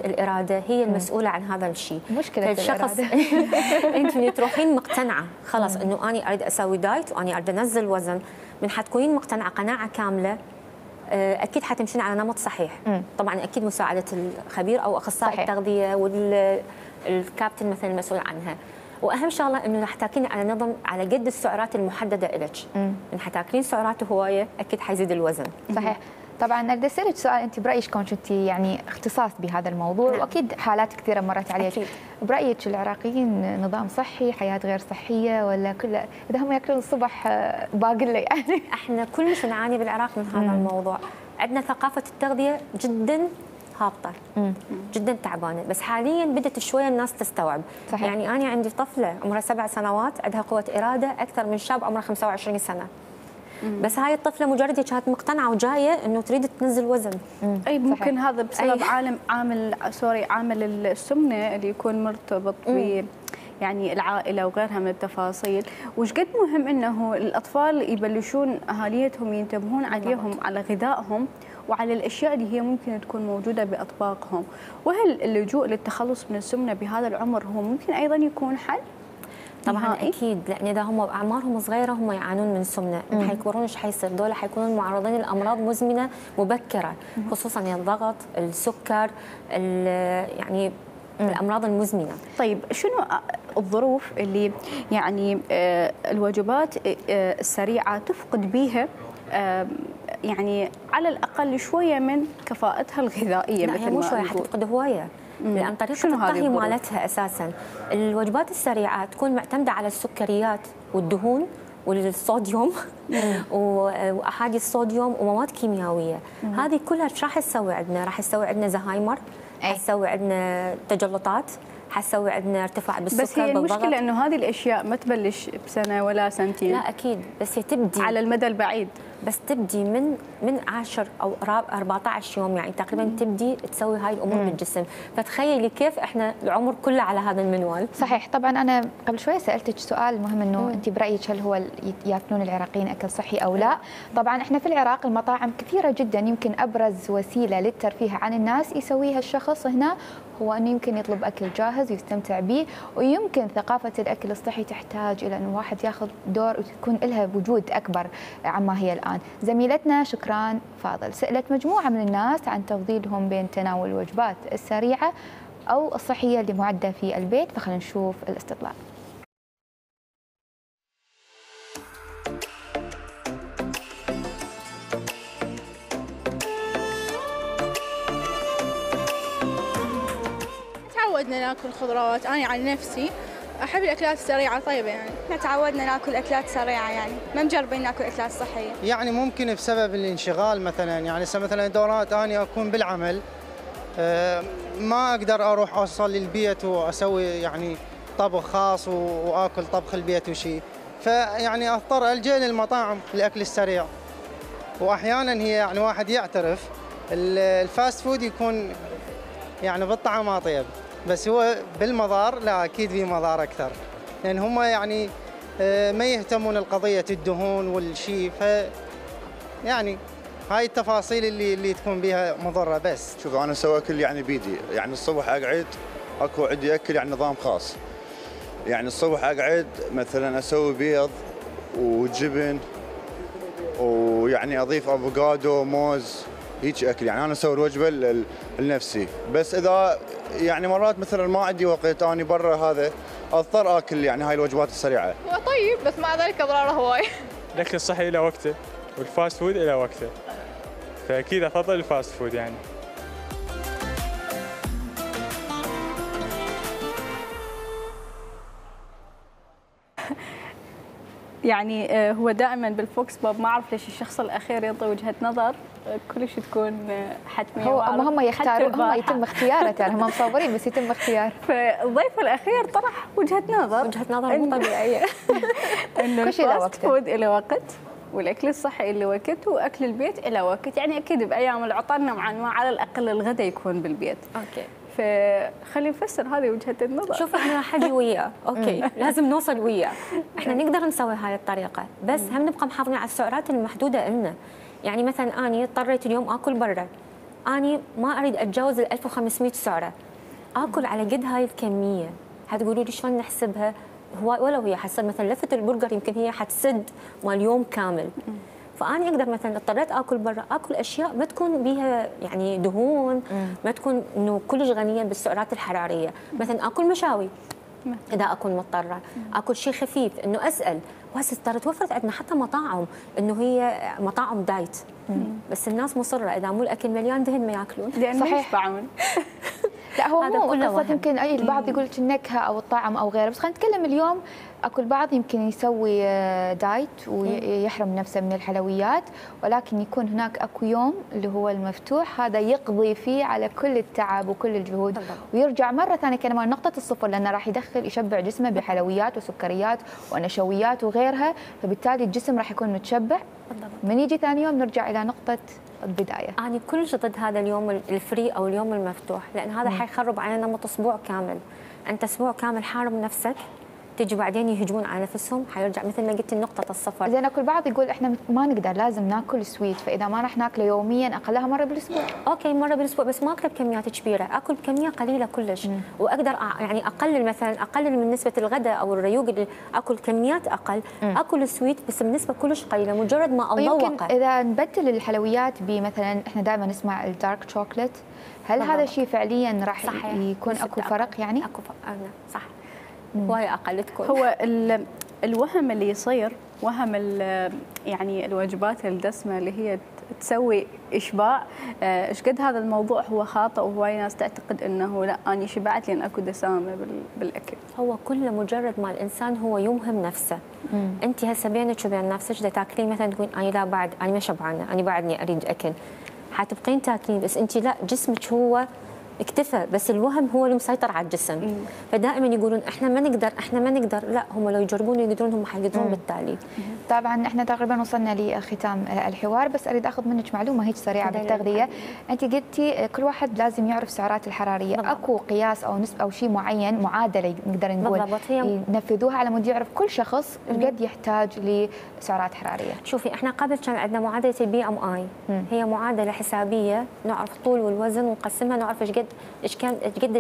الاراده هي المسؤوله عن هذا الشيء. مشكله الشخص انت تروحين مقتنعه خلاص انه انا اريد اسوي دايت واني اريد انزل وزن، من حتكونين مقتنعه قناعه كامله اكيد حتمشين على نمط صحيح. مم. طبعا اكيد مساعده الخبير او اخصائي التغذيه والكابتن مثلا المسؤول عنها، واهم شغله انه رح تاكلين على نظم على قد السعرات المحدده لك. من حتاكلين سعرات هوايه اكيد حيزيد الوزن. صحيح. طبعا اريد اسالك سؤال، انت برايك كون كنتي يعني اختصاص بهذا الموضوع، نعم. واكيد حالات كثيره مرت عليك، أكيد. برايك العراقيين نظام صحي، حياه غير صحيه، ولا كله اذا هم ياكلون الصبح باقله يعني؟ احنا كلش نعاني بالعراق من هذا مم. الموضوع، عندنا ثقافه التغذيه جدا هابطه، مم. جدا تعبانه، بس حاليا بدات شويه الناس تستوعب. صحيح. يعني انا عندي طفله عمرها سبع سنوات عندها قوه اراده اكثر من شاب عمره خمسة وعشرين سنه. مم. بس هاي الطفله مجرد كانت مقتنعه وجايه انه تريد تنزل وزن. مم. اي ممكن صحيح. هذا بسبب عالم عامل سوري عامل السمنه اللي يكون مرتبط ب يعني العائله وغيرها من التفاصيل، وش قد مهم انه الاطفال يبلشون اهاليتهم ينتبهون عليهم على غذائهم وعلى الاشياء اللي هي ممكن تكون موجوده باطباقهم، وهل اللجوء للتخلص من السمنه بهذا العمر هو ممكن ايضا يكون حل؟ طبعا نهائي. اكيد، لان اذا هم اعمارهم صغيره هم يعانون من السمنه، حيكبرون ايش حيصير؟ دول حيكونون معرضين لامراض مزمنه مبكره، خصوصا الضغط، السكر، يعني مم. الامراض المزمنه. طيب شنو الظروف اللي يعني الوجبات السريعه تفقد بها يعني على الاقل شويه من كفاءتها الغذائيه؟ لا مثل مو شويه، حتفقد هوايه. لأن طريقة الطهي مالتها أساساً الوجبات السريعة تكون معتمدة على السكريات والدهون والصوديوم وأحادي الصوديوم ومواد كيميائية. هذه كلها ايش راح تسوي عندنا؟ راح تسوي عندنا زهايمر، حتسوي عندنا تجلطات، حتسوي عندنا ارتفاع بالسكر. بس هي المشكلة إنه هذه الأشياء ما تبلش بسنة ولا سنتين. لا أكيد، بس هي تبدي على المدى البعيد، بس تبدي من من عشرة أو أربعة عشر يوم، يعني تقريبا مم. تبدي تسوي هاي الأمور بالجسم، فتخيلي كيف إحنا العمر كله على هذا المنوال. صحيح. طبعا أنا قبل شوي سألتك سؤال مهم، إنه مم. أنت برأيك هل هو ياكلون العراقيين أكل صحي أو لا؟ طبعا إحنا في العراق المطاعم كثيرة جدا، يمكن أبرز وسيلة للترفيه عن الناس يسويها الشخص هنا هو أنه يمكن يطلب أكل جاهز ويستمتع به، ويمكن ثقافة الأكل الصحي تحتاج إلى أنه الواحد ياخذ دور وتكون لها وجود أكبر عما هي الآن. زميلتنا شكران فاضل سألت مجموعة من الناس عن تفضيلهم بين تناول الوجبات السريعة أو الصحية اللي معدة في البيت، فخلينا نشوف الاستطلاع. تعودنا ناكل خضروات، أنا عن نفسي أحب الأكلات السريعة طيبة، يعني احنا تعودنا ناكل أكلات سريعة، يعني ما مجربين ناكل أكلات صحية. يعني ممكن بسبب الانشغال مثلا، يعني هسه مثلا دورات أنا أكون بالعمل ما أقدر أروح أوصل للبيت وأسوي يعني طبخ خاص وآكل طبخ البيت وشي، فيعني أضطر ألجأ للمطاعم الأكل السريع. وأحيانا هي يعني واحد يعترف الفاست فود يكون يعني بالطعم أطيب، بس هو بالمضار لا أكيد في مضار أكثر، لأن هم يعني ما يهتمون القضية الدهون والشيء، ف يعني هاي التفاصيل اللي اللي تكون بها مضرة. بس شوف أنا أسوي أكل يعني بيدي، يعني الصبح أقعد أكو عندي أكل يعني نظام خاص، يعني الصبح أقعد مثلا أسوي بيض وجبن ويعني أضيف أفوكادو موز هيك أكل، يعني أنا أسوي الوجبة لنفسي. بس إذا يعني مرات مثلا ما عندي وقت أنا برا هذا أضطر آكل يعني هاي الوجبات السريعة. هو طيب بس مع ذلك أضراره هواي. الأكل الصحي إلى وقته والفاست فود إلى وقته، فأكيد أفضل الفاست فود. يعني يعني آه، هو دائما بالفوكس بوب ما اعرف ليش الشخص الاخير يعطي وجهه نظر آه، كلش تكون آه، حتميه. هو وأعرف هم يختاروا، حتى هم البارحة. يتم اختياره ترى، هم مصورين بس يتم اختيار. فالضيف الاخير طرح وجهه نظر وجهه نظر مو طبيعيه انه كل شيء له الفاست وقته. فود له وقت، والاكل الصحي له وقت، واكل البيت له وقت. يعني اكيد بايام العطل نوعا ما على الاقل الغداء يكون بالبيت. اوكي فخلي نفسر هذه وجهه النظر. شوف احنا راح اجي وياه، اوكي لازم نوصل وياه. احنا نقدر نسوي هاي الطريقه، بس هم نبقى محافظين على السعرات المحدوده لنا. يعني مثلا اني اضطريت اليوم اكل برا، اني ما اريد اتجاوز ال ألف وخمسمئة سعره، اكل على قد هاي الكميه. هتقولوا لي شلون نحسبها؟ هو ولو هي حسب مثلا لفه البرجر يمكن هي حتسد مال يوم كامل. فاني اقدر مثلا اضطريت اكل برا، اكل اشياء ما تكون بها يعني دهون، ما تكون انه كلش غنيه بالسعرات الحراريه. مثلا اكل مشاوي اذا اكون مضطره، اكل شيء خفيف، انه اسال. وهسه ترى توفرت عندنا حتى مطاعم انه هي مطاعم دايت، بس الناس مصره اذا مو الاكل مليان دهن ما ياكلون. لان صحيح. ما يشبعون. لا هو هذا مو كله قصة، وهم. يمكن اي البعض يقول لك النكهه او الطعم او غيره، بس خلينا نتكلم اليوم. اكو البعض يمكن يسوي آه، دايت ويحرم نفسه من الحلويات، ولكن يكون هناك اكو يوم اللي هو المفتوح، هذا يقضي فيه على كل التعب وكل الجهود بالضبط. ويرجع مره ثانيه كمان نقطه الصفر، لانه راح يدخل يشبع جسمه بحلويات وسكريات ونشويات وغيرها، فبالتالي الجسم راح يكون متشبع. بالضبط. من يجي ثاني يوم نرجع الى نقطه البدايه. أنا كلش ضد هذا اليوم الفري أو اليوم المفتوح، لأن هذا حيخرب علينا نمط أسبوع كامل. أنت أسبوع كامل حارم نفسك، تجي بعدين يهجمون على نفسهم، حيرجع مثل ما قلت نقطة الصفر. زين اكو البعض يقول احنا ما نقدر، لازم ناكل سويت، فاذا ما راح ناكله يوميا اقلها مره بالاسبوع. اوكي مره بالاسبوع، بس ما اكله بكميات كبيره، اكل بكميه قليله كلش. مم. واقدر أ- يعني اقلل مثلا اقلل من نسبه الغداء او الريوق اللي اكل كميات اقل. مم. اكل سويت بس بنسبه كلش قليله، مجرد ما يمكن اذوقه. اذا نبدل الحلويات بمثلا، احنا دائما نسمع الدارك شوكليت، هل بالضبط. هذا الشيء فعليا راح صحيح. يكون نسبة اكو أقل. فرق يعني؟ اكو فرق، أنا صح. هواي اقل تكون. هو ال- الوهم اللي يصير وهم ال- يعني الوجبات الدسمه اللي هي تسوي اشباع، آه، ايش قد هذا الموضوع هو خاطئ، وهواي ناس تعتقد انه لا اني شبعت لان اكو دسامه بال- بالاكل. هو كله مجرد ما الانسان هو يوهم نفسه. مم. انت هسه بينك وبين نفسك دا تاكلين مثلا تقول انا لا بعد انا ما شبعانه، انا بعدني اريد اكل، حتبقين تاكلين، بس انت لا، جسمك هو اكتفى، بس الوهم هو اللي مسيطر على الجسم. مم. فدائما يقولون احنا ما نقدر احنا ما نقدر، لا هم لو يجربون يقدرون، هم حيقدرون بالتالي. طبعا احنا تقريبا وصلنا لختام الحوار، بس اريد اخذ منك معلومه هيك سريعه بالتغذيه. انت قلتي كل واحد لازم يعرف السعرات الحراريه، بالضبط. اكو قياس او نسبه او شيء معين، معادله نقدر نقول ينفذوها على مود يعرف كل شخص قد يحتاج لسعرات حراريه؟ شوفي احنا قبل كان عندنا معادله البي ام اي، هي معادله حسابيه نعرف الطول والوزن ونقسمها، نعرف ايش قد ايش كان ايش قد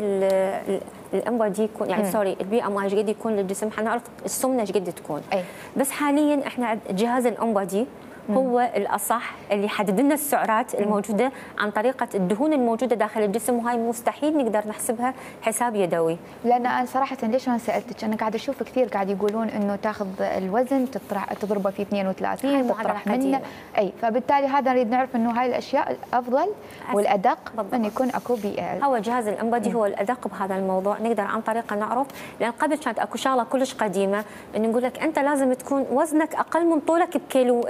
الام دي يكون، يعني سوري البي ام اي ايش قد يكون للجسم، حنعرف السمنه ايش قد تكون. أي. بس حاليا احنا جهاز الام دي هو الاصح اللي يحدد لنا السعرات الموجوده عن طريقه الدهون الموجوده داخل الجسم، وهاي مستحيل نقدر نحسبها حساب يدوي. لان انا صراحه ليش انا سالتك، انا قاعده اشوف كثير قاعد يقولون انه تاخذ الوزن تطرح تضربه في اثنين وثلاثين تطرح منه، اي فبالتالي هذا نريد نعرف انه هاي الاشياء الافضل والادق ان يكون اكو بيئه. هو جهاز الانبادي هو الادق بهذا الموضوع، نقدر عن طريقه نعرف، لان قبل كانت اكو شغله كلش قديمه انه نقول لك انت لازم تكون وزنك اقل من طولك بكيلو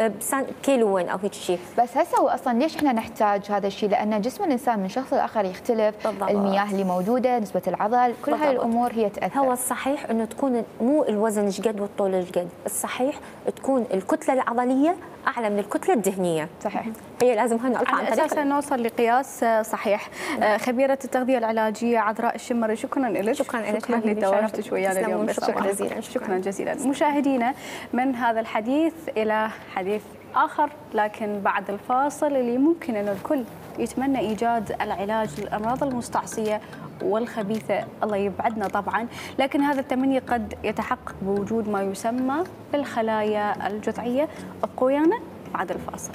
كيلوين او هيك شيء. بس هسه هو اصلا ليش احنا نحتاج هذا الشيء؟ لان جسم الانسان من شخص لاخر يختلف، بالضبط. المياه اللي موجوده، نسبه العضل، كل هاي الامور هي تاثر. هو الصحيح انه تكون مو الوزن ايش قد والطول ايش قد، الصحيح تكون الكتله العضليه اعلى من الكتله الدهنيه. صحيح. هي لازم هاي نعرفها عن طريق اساسا نوصل لقياس صحيح. خبيره التغذيه العلاجيه عذراء الشمري، شكرا لك. شكرا لك، شكرا لتواجدك ويانا اليوم. شكرا جزيلا. شكرا جزيلا. مشاهدينا، من هذا الحديث الى حديث آخر، لكن بعد الفاصل اللي ممكن أن الكل يتمنى إيجاد العلاج للأمراض المستعصية والخبيثة، الله يبعدنا طبعا، لكن هذا التمني قد يتحقق بوجود ما يسمى بالخلايا الجذعية. ابقوا ويانا بعد الفاصل.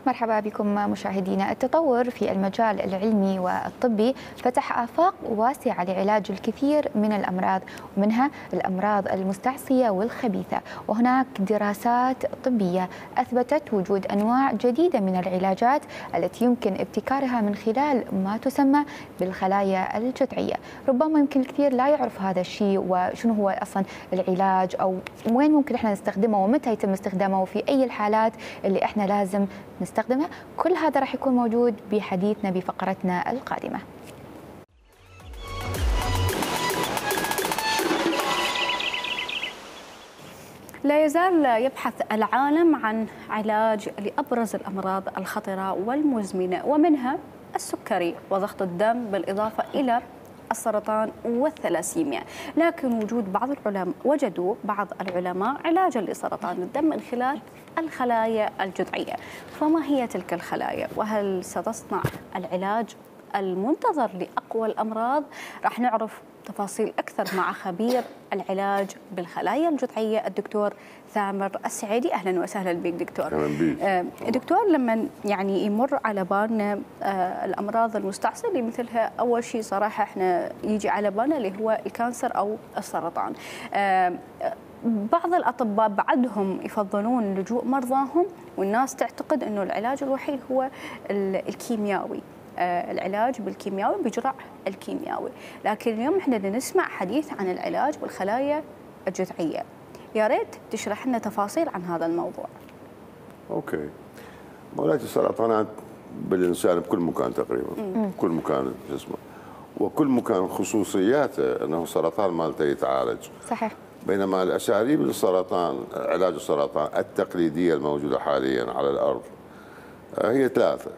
مرحبا بكم مشاهدينا. التطور في المجال العلمي والطبي فتح آفاق واسعة لعلاج الكثير من الأمراض، ومنها الأمراض المستعصية والخبيثة، وهناك دراسات طبية أثبتت وجود أنواع جديدة من العلاجات التي يمكن ابتكارها من خلال ما تسمى بالخلايا الجذعية. ربما يمكن الكثير لا يعرف هذا الشيء وشنو هو أصلا العلاج أو وين ممكن احنا نستخدمه ومتى يتم استخدامه وفي أي الحالات اللي احنا لازم نستخدمها. كل هذا راح يكون موجود بحديثنا بفقرتنا القادمة. لا يزال يبحث العالم عن علاج لأبرز الأمراض الخطرة والمزمنة، ومنها السكري وضغط الدم بالإضافة إلى السرطان والثلاسيميا. لكن وجود بعض العلماء وجدوا بعض العلماء علاجا لسرطان الدم من خلال الخلايا الجذعية. فما هي تلك الخلايا؟ وهل ستصنع العلاج المنتظر لأقوى الأمراض؟ راح نعرف تفاصيل أكثر مع خبير العلاج بالخلايا الجذعية الدكتور ثامر السعيدي. أهلا وسهلا بك دكتور. أهلا بك. آه دكتور، لما يعني يمر على بالنا آه الأمراض المستعصية اللي مثلها، أول شيء صراحة احنا يجي على بالنا اللي هو الكانسر أو السرطان. آه بعض الأطباء بعدهم يفضلون لجوء مرضاهم، والناس تعتقد أنه العلاج الوحيد هو الكيميائي، العلاج بالكيميائي بجرعة الكيميائي. لكن اليوم احنا نسمع حديث عن العلاج بالخلايا الجذعية. يا ريت تشرح لنا تفاصيل عن هذا الموضوع. اوكي. مولاتي السرطانات بالانسان بكل مكان تقريبا، مم. كل مكان جسمه، وكل مكان خصوصياته انه السرطان مالته يتعالج. صحيح. بينما الاساليب للسرطان، علاج السرطان التقليديه الموجوده حاليا على الارض هي ثلاثه.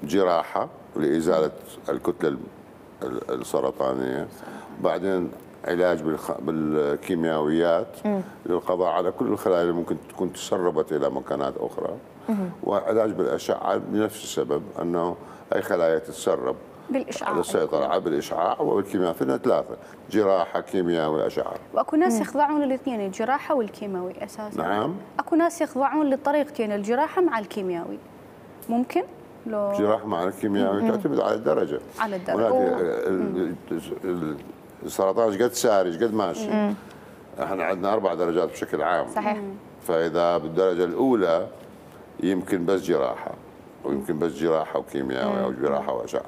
جراحة لإزالة الكتلة السرطانية، بعدين علاج بالكيميائيات للقضاء على كل الخلايا اللي ممكن تكون تسربت إلى مكانات أخرى، وعلاج بالأشعة لنفس السبب أنه أي خلايا تتسرب بالإشعاع للسيطرة بالإشعاع وبالكيمياء. فينا ثلاثة: جراحة، كيمياء، وأشعة. وأكو ناس يخضعون للاثنين، الجراحة والكيماوي أساسا. نعم. أكو ناس يخضعون للطريقتين، الجراحة مع الكيميائي. ممكن؟ لو جراحة مع الكيميائي تعتمد على الدرجة. على الدرجة. السرطان ايش قد ساري ايش قد ماشي. مم. احنا عندنا أربع درجات بشكل عام. صحيح. فإذا بالدرجة الأولى يمكن بس جراحة، ويمكن بس جراحة وكيميائي أو جراحة وأشعة.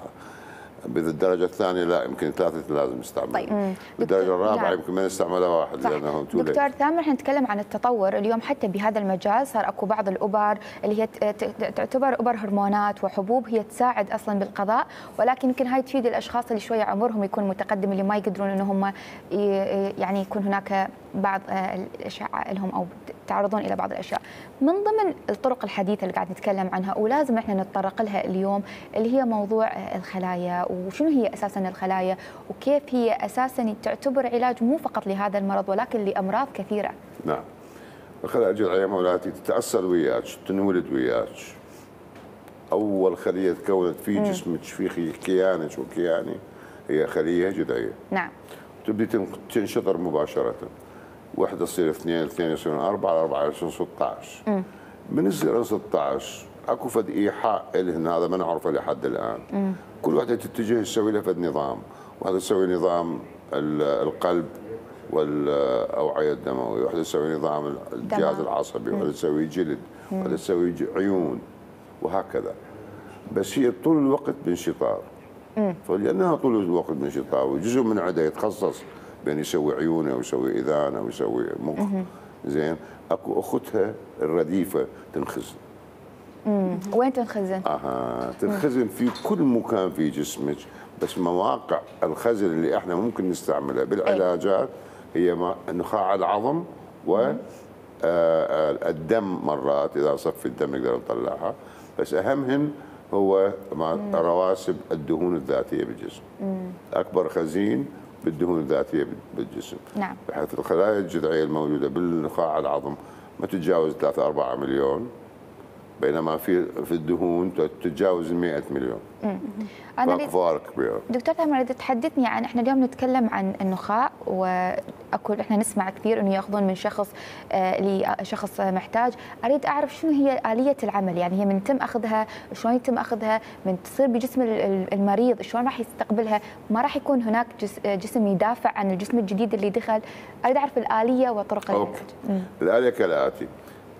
بالدرجة الثانية لا، يمكن ثلاثة لازم نستعمل. طيب. بالدرجة الرابعة يمكن ما نستعملها واحد لأنه تولي. دكتور ثامر، احنا نتكلم عن التطور اليوم حتى بهذا المجال. صار اكو بعض الابر اللي هي تعتبر ابر هرمونات وحبوب هي تساعد اصلا بالقضاء، ولكن يمكن هاي تفيد الاشخاص اللي شويه عمرهم يكون متقدم، اللي ما يقدرون ان هم يعني يكون هناك بعض الاشعه لهم او يتعرضون الى بعض الاشياء. من ضمن الطرق الحديثه اللي قاعد نتكلم عنها ولازم احنا نتطرق لها اليوم اللي هي موضوع الخلايا، وشنو هي اساسا الخلايا وكيف هي اساسا تعتبر علاج مو فقط لهذا المرض ولكن لامراض كثيره. نعم. الخلايا الجذعيه مولاتي تتاصل وياك، تنولد وياك. اول خليه تكونت في جسمك في كيانك وكياني هي خليه جذعيه. نعم. تبدي تنشطر مباشره. وحده تصير اثنين، اثنين يصيرون أربعة، أربعة يصيرون ستة عشر. من يصير ستة عشر اكو فد ايحاء لهن، هذا ما نعرفه لحد الان. مم. كل وحده تتجه تسوي لها فد نظام، وحده تسوي نظام القلب والاوعيه الدمويه، وحده تسوي نظام الجهاز العصبي، وحده تسوي جلد، وحده تسوي عيون، وهكذا. بس هي طول الوقت بانشطار. فلانها طول الوقت بانشطار وجزء من عده يتخصص بين يسوي عيونه ويسوي اذانه ويسوي مخ. زين. اكو اختها الرديفه تنخزن. امم وين تنخزن؟ اها تنخزن في كل مكان في جسمك، بس مواقع الخزن اللي احنا ممكن نستعملها بالعلاجات هي نخاع العظم والدم. مرات اذا صف الدم نقدر نطلعها، بس اهمهن هو رواسب الدهون الذاتيه بالجسم. مم. اكبر خزين بالدهون الذاتيه بالجسم. نعم. بحيث الخلايا الجذعيه الموجوده بالنخاع العظم ما تتجاوز ثلاثة أربعة مليون، بينما في في الدهون تتجاوز مئة مليون. أنا فرق فارق كبير. دكتور تامر، إذا تحدثني عن احنا اليوم نتكلم عن النخاع، واكو احنا نسمع كثير انه ياخذون من شخص آه لشخص محتاج، اريد اعرف شنو هي آلية العمل، يعني هي من يتم اخذها، شلون يتم اخذها، من تصير بجسم المريض شلون راح يستقبلها، ما راح يكون هناك جسم يدافع عن الجسم الجديد اللي دخل، اريد اعرف الآلية وطرق العلاج. الآلية كالآتي: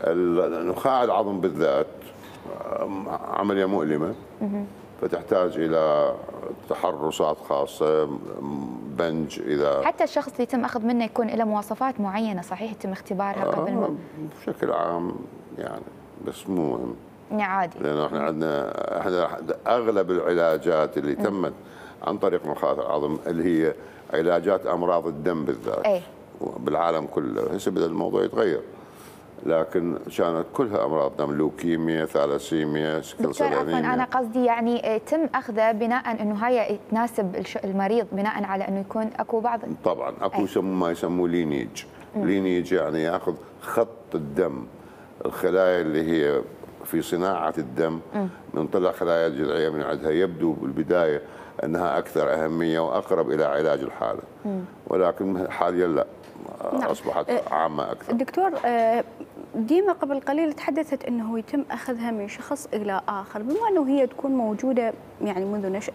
النخاع العظم بالذات عملية مؤلمة، فتحتاج إلى تحرصات خاصة، بنج إذا حتى الشخص اللي يتم أخذ منه يكون له مواصفات معينة، صحيح يتم اختبارها قبل ما؟ بشكل عام يعني، بس مو مهم. عادي. لأنه احنا عندنا احنا أغلب العلاجات اللي تمت عن طريق نخاع العظم اللي هي علاجات أمراض الدم بالذات. أي. بالعالم كله، هسه بدأ الموضوع يتغير. لكن كانت كلها امراض دم، لوكيميا، ثالاسيميا، سكل سيل انيميا. انا قصدي يعني تم اخذه بناء انه هاي تناسب المريض، بناء على انه يكون اكو بعض. طبعا اكو يسموه ما يسموه لينيج. لينيج يعني ياخذ خط الدم، الخلايا اللي هي في صناعه الدم، من طلع خلايا الجذعيه من عندها يبدو بالبدايه انها اكثر اهميه واقرب الى علاج الحاله. مم. ولكن حاليا لا، اصبحت نعم. عامه اكثر. دكتور، ديما قبل قليل تحدثت انه يتم اخذها من شخص الى اخر، بما انه هي تكون موجوده يعني منذ نشاه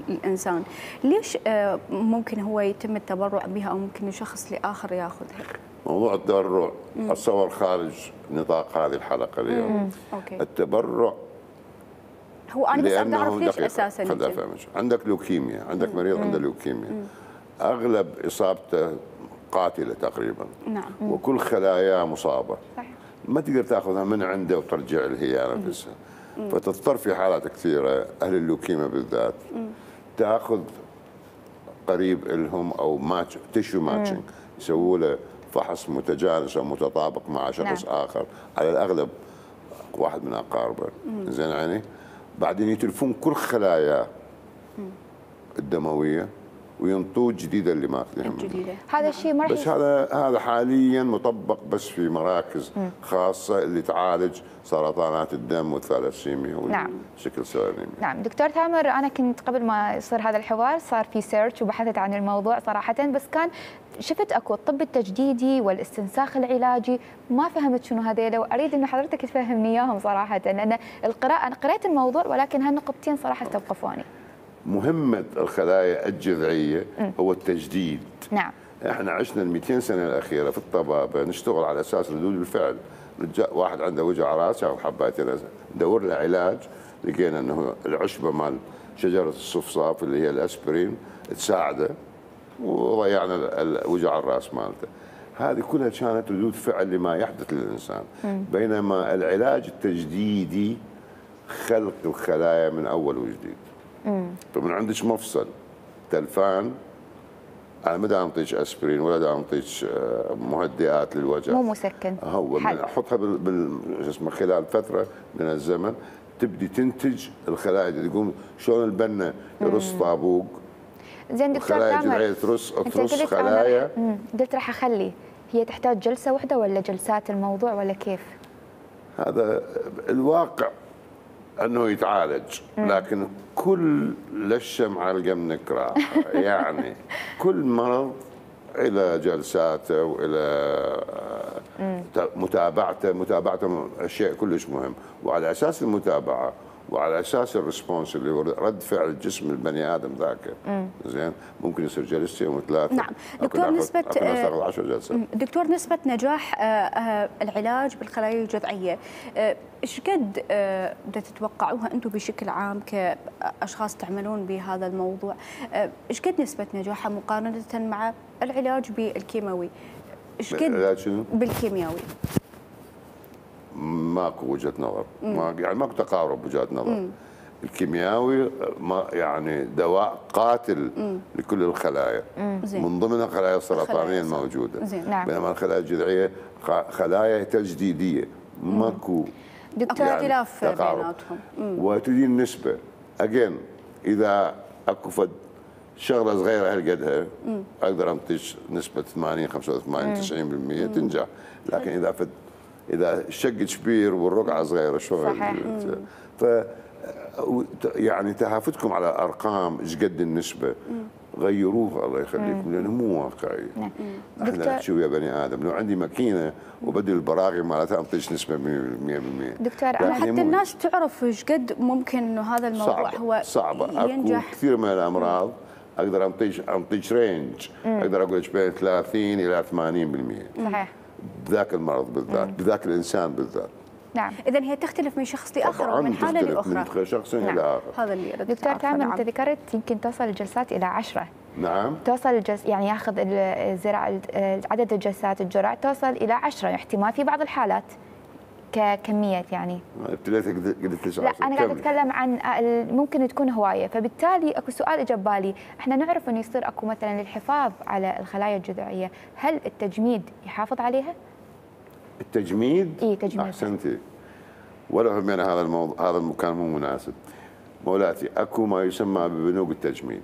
الانسان، ليش ممكن هو يتم التبرع بها او ممكن شخص لاخر ياخذها؟ موضوع التبرع اتصور خارج نطاق هذه الحلقه اليوم. مم. أوكي. التبرع هو انا بس اريد اعرف ليش اساسا. عندك لوكيميا، عندك مريض مم. عنده لوكيميا، مم. اغلب اصابته قاتله تقريبا. نعم. وكل خلاياه مصابه. صحيح. ما تقدر تاخذها من عنده وترجع له هي نفسها. فتضطر في حالات كثيره اهل اللوكيميا بالذات مم. تاخذ قريب لهم او ماتش تيشو ماتشنج، يسووا له فحص متجانس او متطابق مع شخص نعم. اخر، على الاغلب واحد من اقاربه. زين يعني بعدين يتلفون كل خلاياه الدمويه وينطوا جديده اللي ماخذينها. هذا الشيء ما بس هذا هذا حاليا مطبق بس في مراكز م. خاصه اللي تعالج سرطانات الدم والثالاسيميا والسكل سيل انيميا. نعم دكتور تامر، انا كنت قبل ما يصير هذا الحوار صار في سيرش وبحثت عن الموضوع صراحه، بس كان شفت اكو الطب التجديدي والاستنساخ العلاجي، ما فهمت شنو هذيلا، واريد ان حضرتك تفهمني اياهم صراحه، لان القراءه انا قرأت الموضوع ولكن هالنقطتين صراحه استوقفوني. مهمة الخلايا الجذعية م. هو التجديد. نعم. احنا عشنا ال مئتين سنة الأخيرة في الطبابة نشتغل على أساس ردود الفعل. واحد عنده وجع راس ياخذ حبايتين، ندور له علاج، لقينا انه العشبة مال شجرة الصفصاف اللي هي الأسبرين تساعده وضيعنا وجع الراس مالته. هذه كلها كانت ردود فعل لما يحدث للإنسان. م. بينما العلاج التجديدي خلق الخلايا من أول وجديد. فمن عندك مفصل تلفان، انا ما دا انطيك اسبرين ولا دا انطيك مهدئات للوجع، مو مسكن، هو من احطها بال اسمه خلال فتره من الزمن تبدي تنتج الخلايا اللي تقوم شلون البنا يرص طابوق. زين دكتور تامر، ترص ترص خلايا. قلت راح اخلي، هي تحتاج جلسه واحده ولا جلسات الموضوع ولا كيف؟ هذا الواقع انه يتعالج، لكن كل للشمعة القمنك راحة. يعني كل مرض الى جلساته والى متابعته، متابعته شيء كلش مهم، وعلى اساس المتابعه وعلى اساس الريسبونس اللي هو رد فعل الجسم البني ادم ذاك زين ممكن يصير جلستين وثلاثه. نعم دكتور، نسبه عشر جلسات. دكتور نسبه نجاح العلاج بالخلايا الجذعيه ايش قد بدها تتوقعوها انتم بشكل عام كاشخاص تعملون بهذا الموضوع؟ ايش قد نسبه نجاحها مقارنه مع العلاج بالكيماوي؟ ايش قد بالكيمياوي؟ ماكو وجهه نظر، ما يعني ماكو تقارب وجهات نظر. مم. الكيمياوي ما يعني دواء قاتل مم. لكل الخلايا، مم. من ضمنها الخلايا السرطانيه الموجوده. نعم. بينما الخلايا الجذعيه خلايا تجديديه، ماكو دكتور اختلاف يعني بيناتهم. وتجي النسبه اجين اذا اكو فد شغله صغيره هالقدها اقدر انطيك نسبه ثمانين خمسة وثمانين تسعين بالمئة تنجح، لكن اذا فد اذا الشق كبير والرقعه صغيره شلون؟ صحيح. ف يعني تهافتكم على ارقام ايش قد النسبه غيروها الله يخليكم لانه مو واقعي. نعم. احنا نحكي ويا بني ادم، لو عندي ماكينه وبدل البراغي مالتها انطيش نسبه مية بالمية. دكتور أنا حتى الناس تعرف ايش قد ممكن انه هذا الموضوع صعبة هو صعبه ينجح. اكو كثير من الامراض اقدر انطيش انطيش رينج، اقدر اقول لك بين ثلاثين الى ثمانين بالمية صحيح. بذاك المرض بالذات، بذاك الانسان بالذات. نعم. اذا هي تختلف من شخص لاخر ومن حاله لاخرى. من شخص نعم. الى اخر. هذا اللي أردت دكتور أعرفه. كامل نعم. انت ذكرت يمكن توصل الجلسات الى عشرة. نعم. توصل الجلس يعني ياخذ الزراعه عدد الجلسات الجرعه توصل الى عشرة، احتمال في بعض الحالات ككميه يعني. ابتديت قلت لك لا انا قاعده اتكلم عن ممكن تكون هوايه، فبالتالي اكو سؤال اجى ببالي، احنا نعرف انه يصير اكو مثلا للحفاظ على الخلايا الجذعيه، هل التجميد يحافظ عليها؟ التجميد؟ اي تجميد. احسنتي. ولو همينا هذا الموضوع هذا المكان مو مناسب. مولاتي اكو ما يسمى ببنوك التجميد.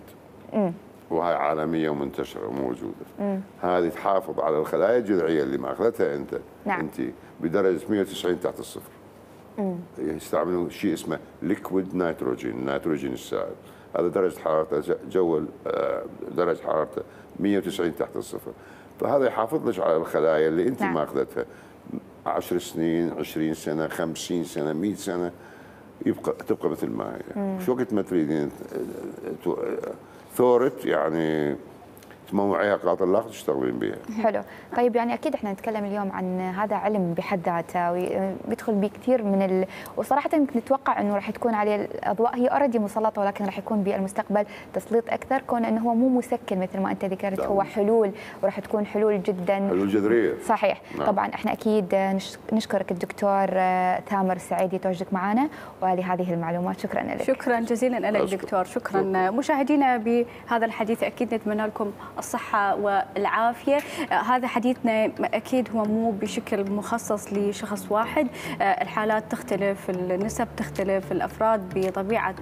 امم وهي عالميه ومنتشره وموجوده. مم. هذه تحافظ على الخلايا الجذعيه اللي ماخذتها انت. نعم. انت بدرجه مية وتسعين تحت الصفر. امم يستعملون شيء اسمه ليكويد نيتروجين، النيتروجين السائل. هذا درجه حرارته جو درجه حرارته مية وتسعين تحت الصفر. فهذا يحافظ لك على الخلايا اللي انت نعم. ماخذتها عشر سنين، عشرين سنه، خمسين سنه، مية سنه، يبقى تبقى مثل ما هي. شو وقت ما تريدين ثورت يعني تموعيها قاطر الاخر تشتغلين بها. حلو. طيب يعني اكيد احنا نتكلم اليوم عن هذا علم بحد ذاته وبيدخل به كثير من ال... وصراحه نتوقع انه راح تكون عليه الاضواء، هي اوريدي مسلطه ولكن راح يكون بالمستقبل تسليط اكثر، كون انه هو مو مسكن مثل ما انت ذكرت، هو حلول وراح تكون حلول جدا حلول جذريه. صحيح. نعم. طبعا احنا اكيد نشكرك الدكتور ثامر السعيدي تواجدك معنا ولهذه المعلومات، شكرا لك. شكرا جزيلا لك دكتور. شكرا. مشاهدينا بهذا الحديث اكيد نتمنى لكم الصحة والعافية. هذا حديثنا أكيد هو مو بشكل مخصص لشخص واحد، الحالات تختلف، النسب تختلف، الأفراد بطبيعة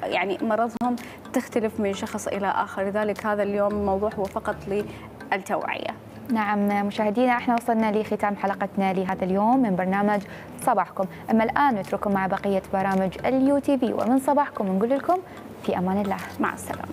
يعني مرضهم تختلف من شخص إلى آخر، لذلك هذا اليوم الموضوع هو فقط للتوعية. نعم مشاهدينا احنا وصلنا لختام حلقتنا لهذا اليوم من برنامج صباحكم، أما الآن نترككم مع بقية برامج اليو تي في، ومن صباحكم نقول لكم في أمان الله، مع السلامة.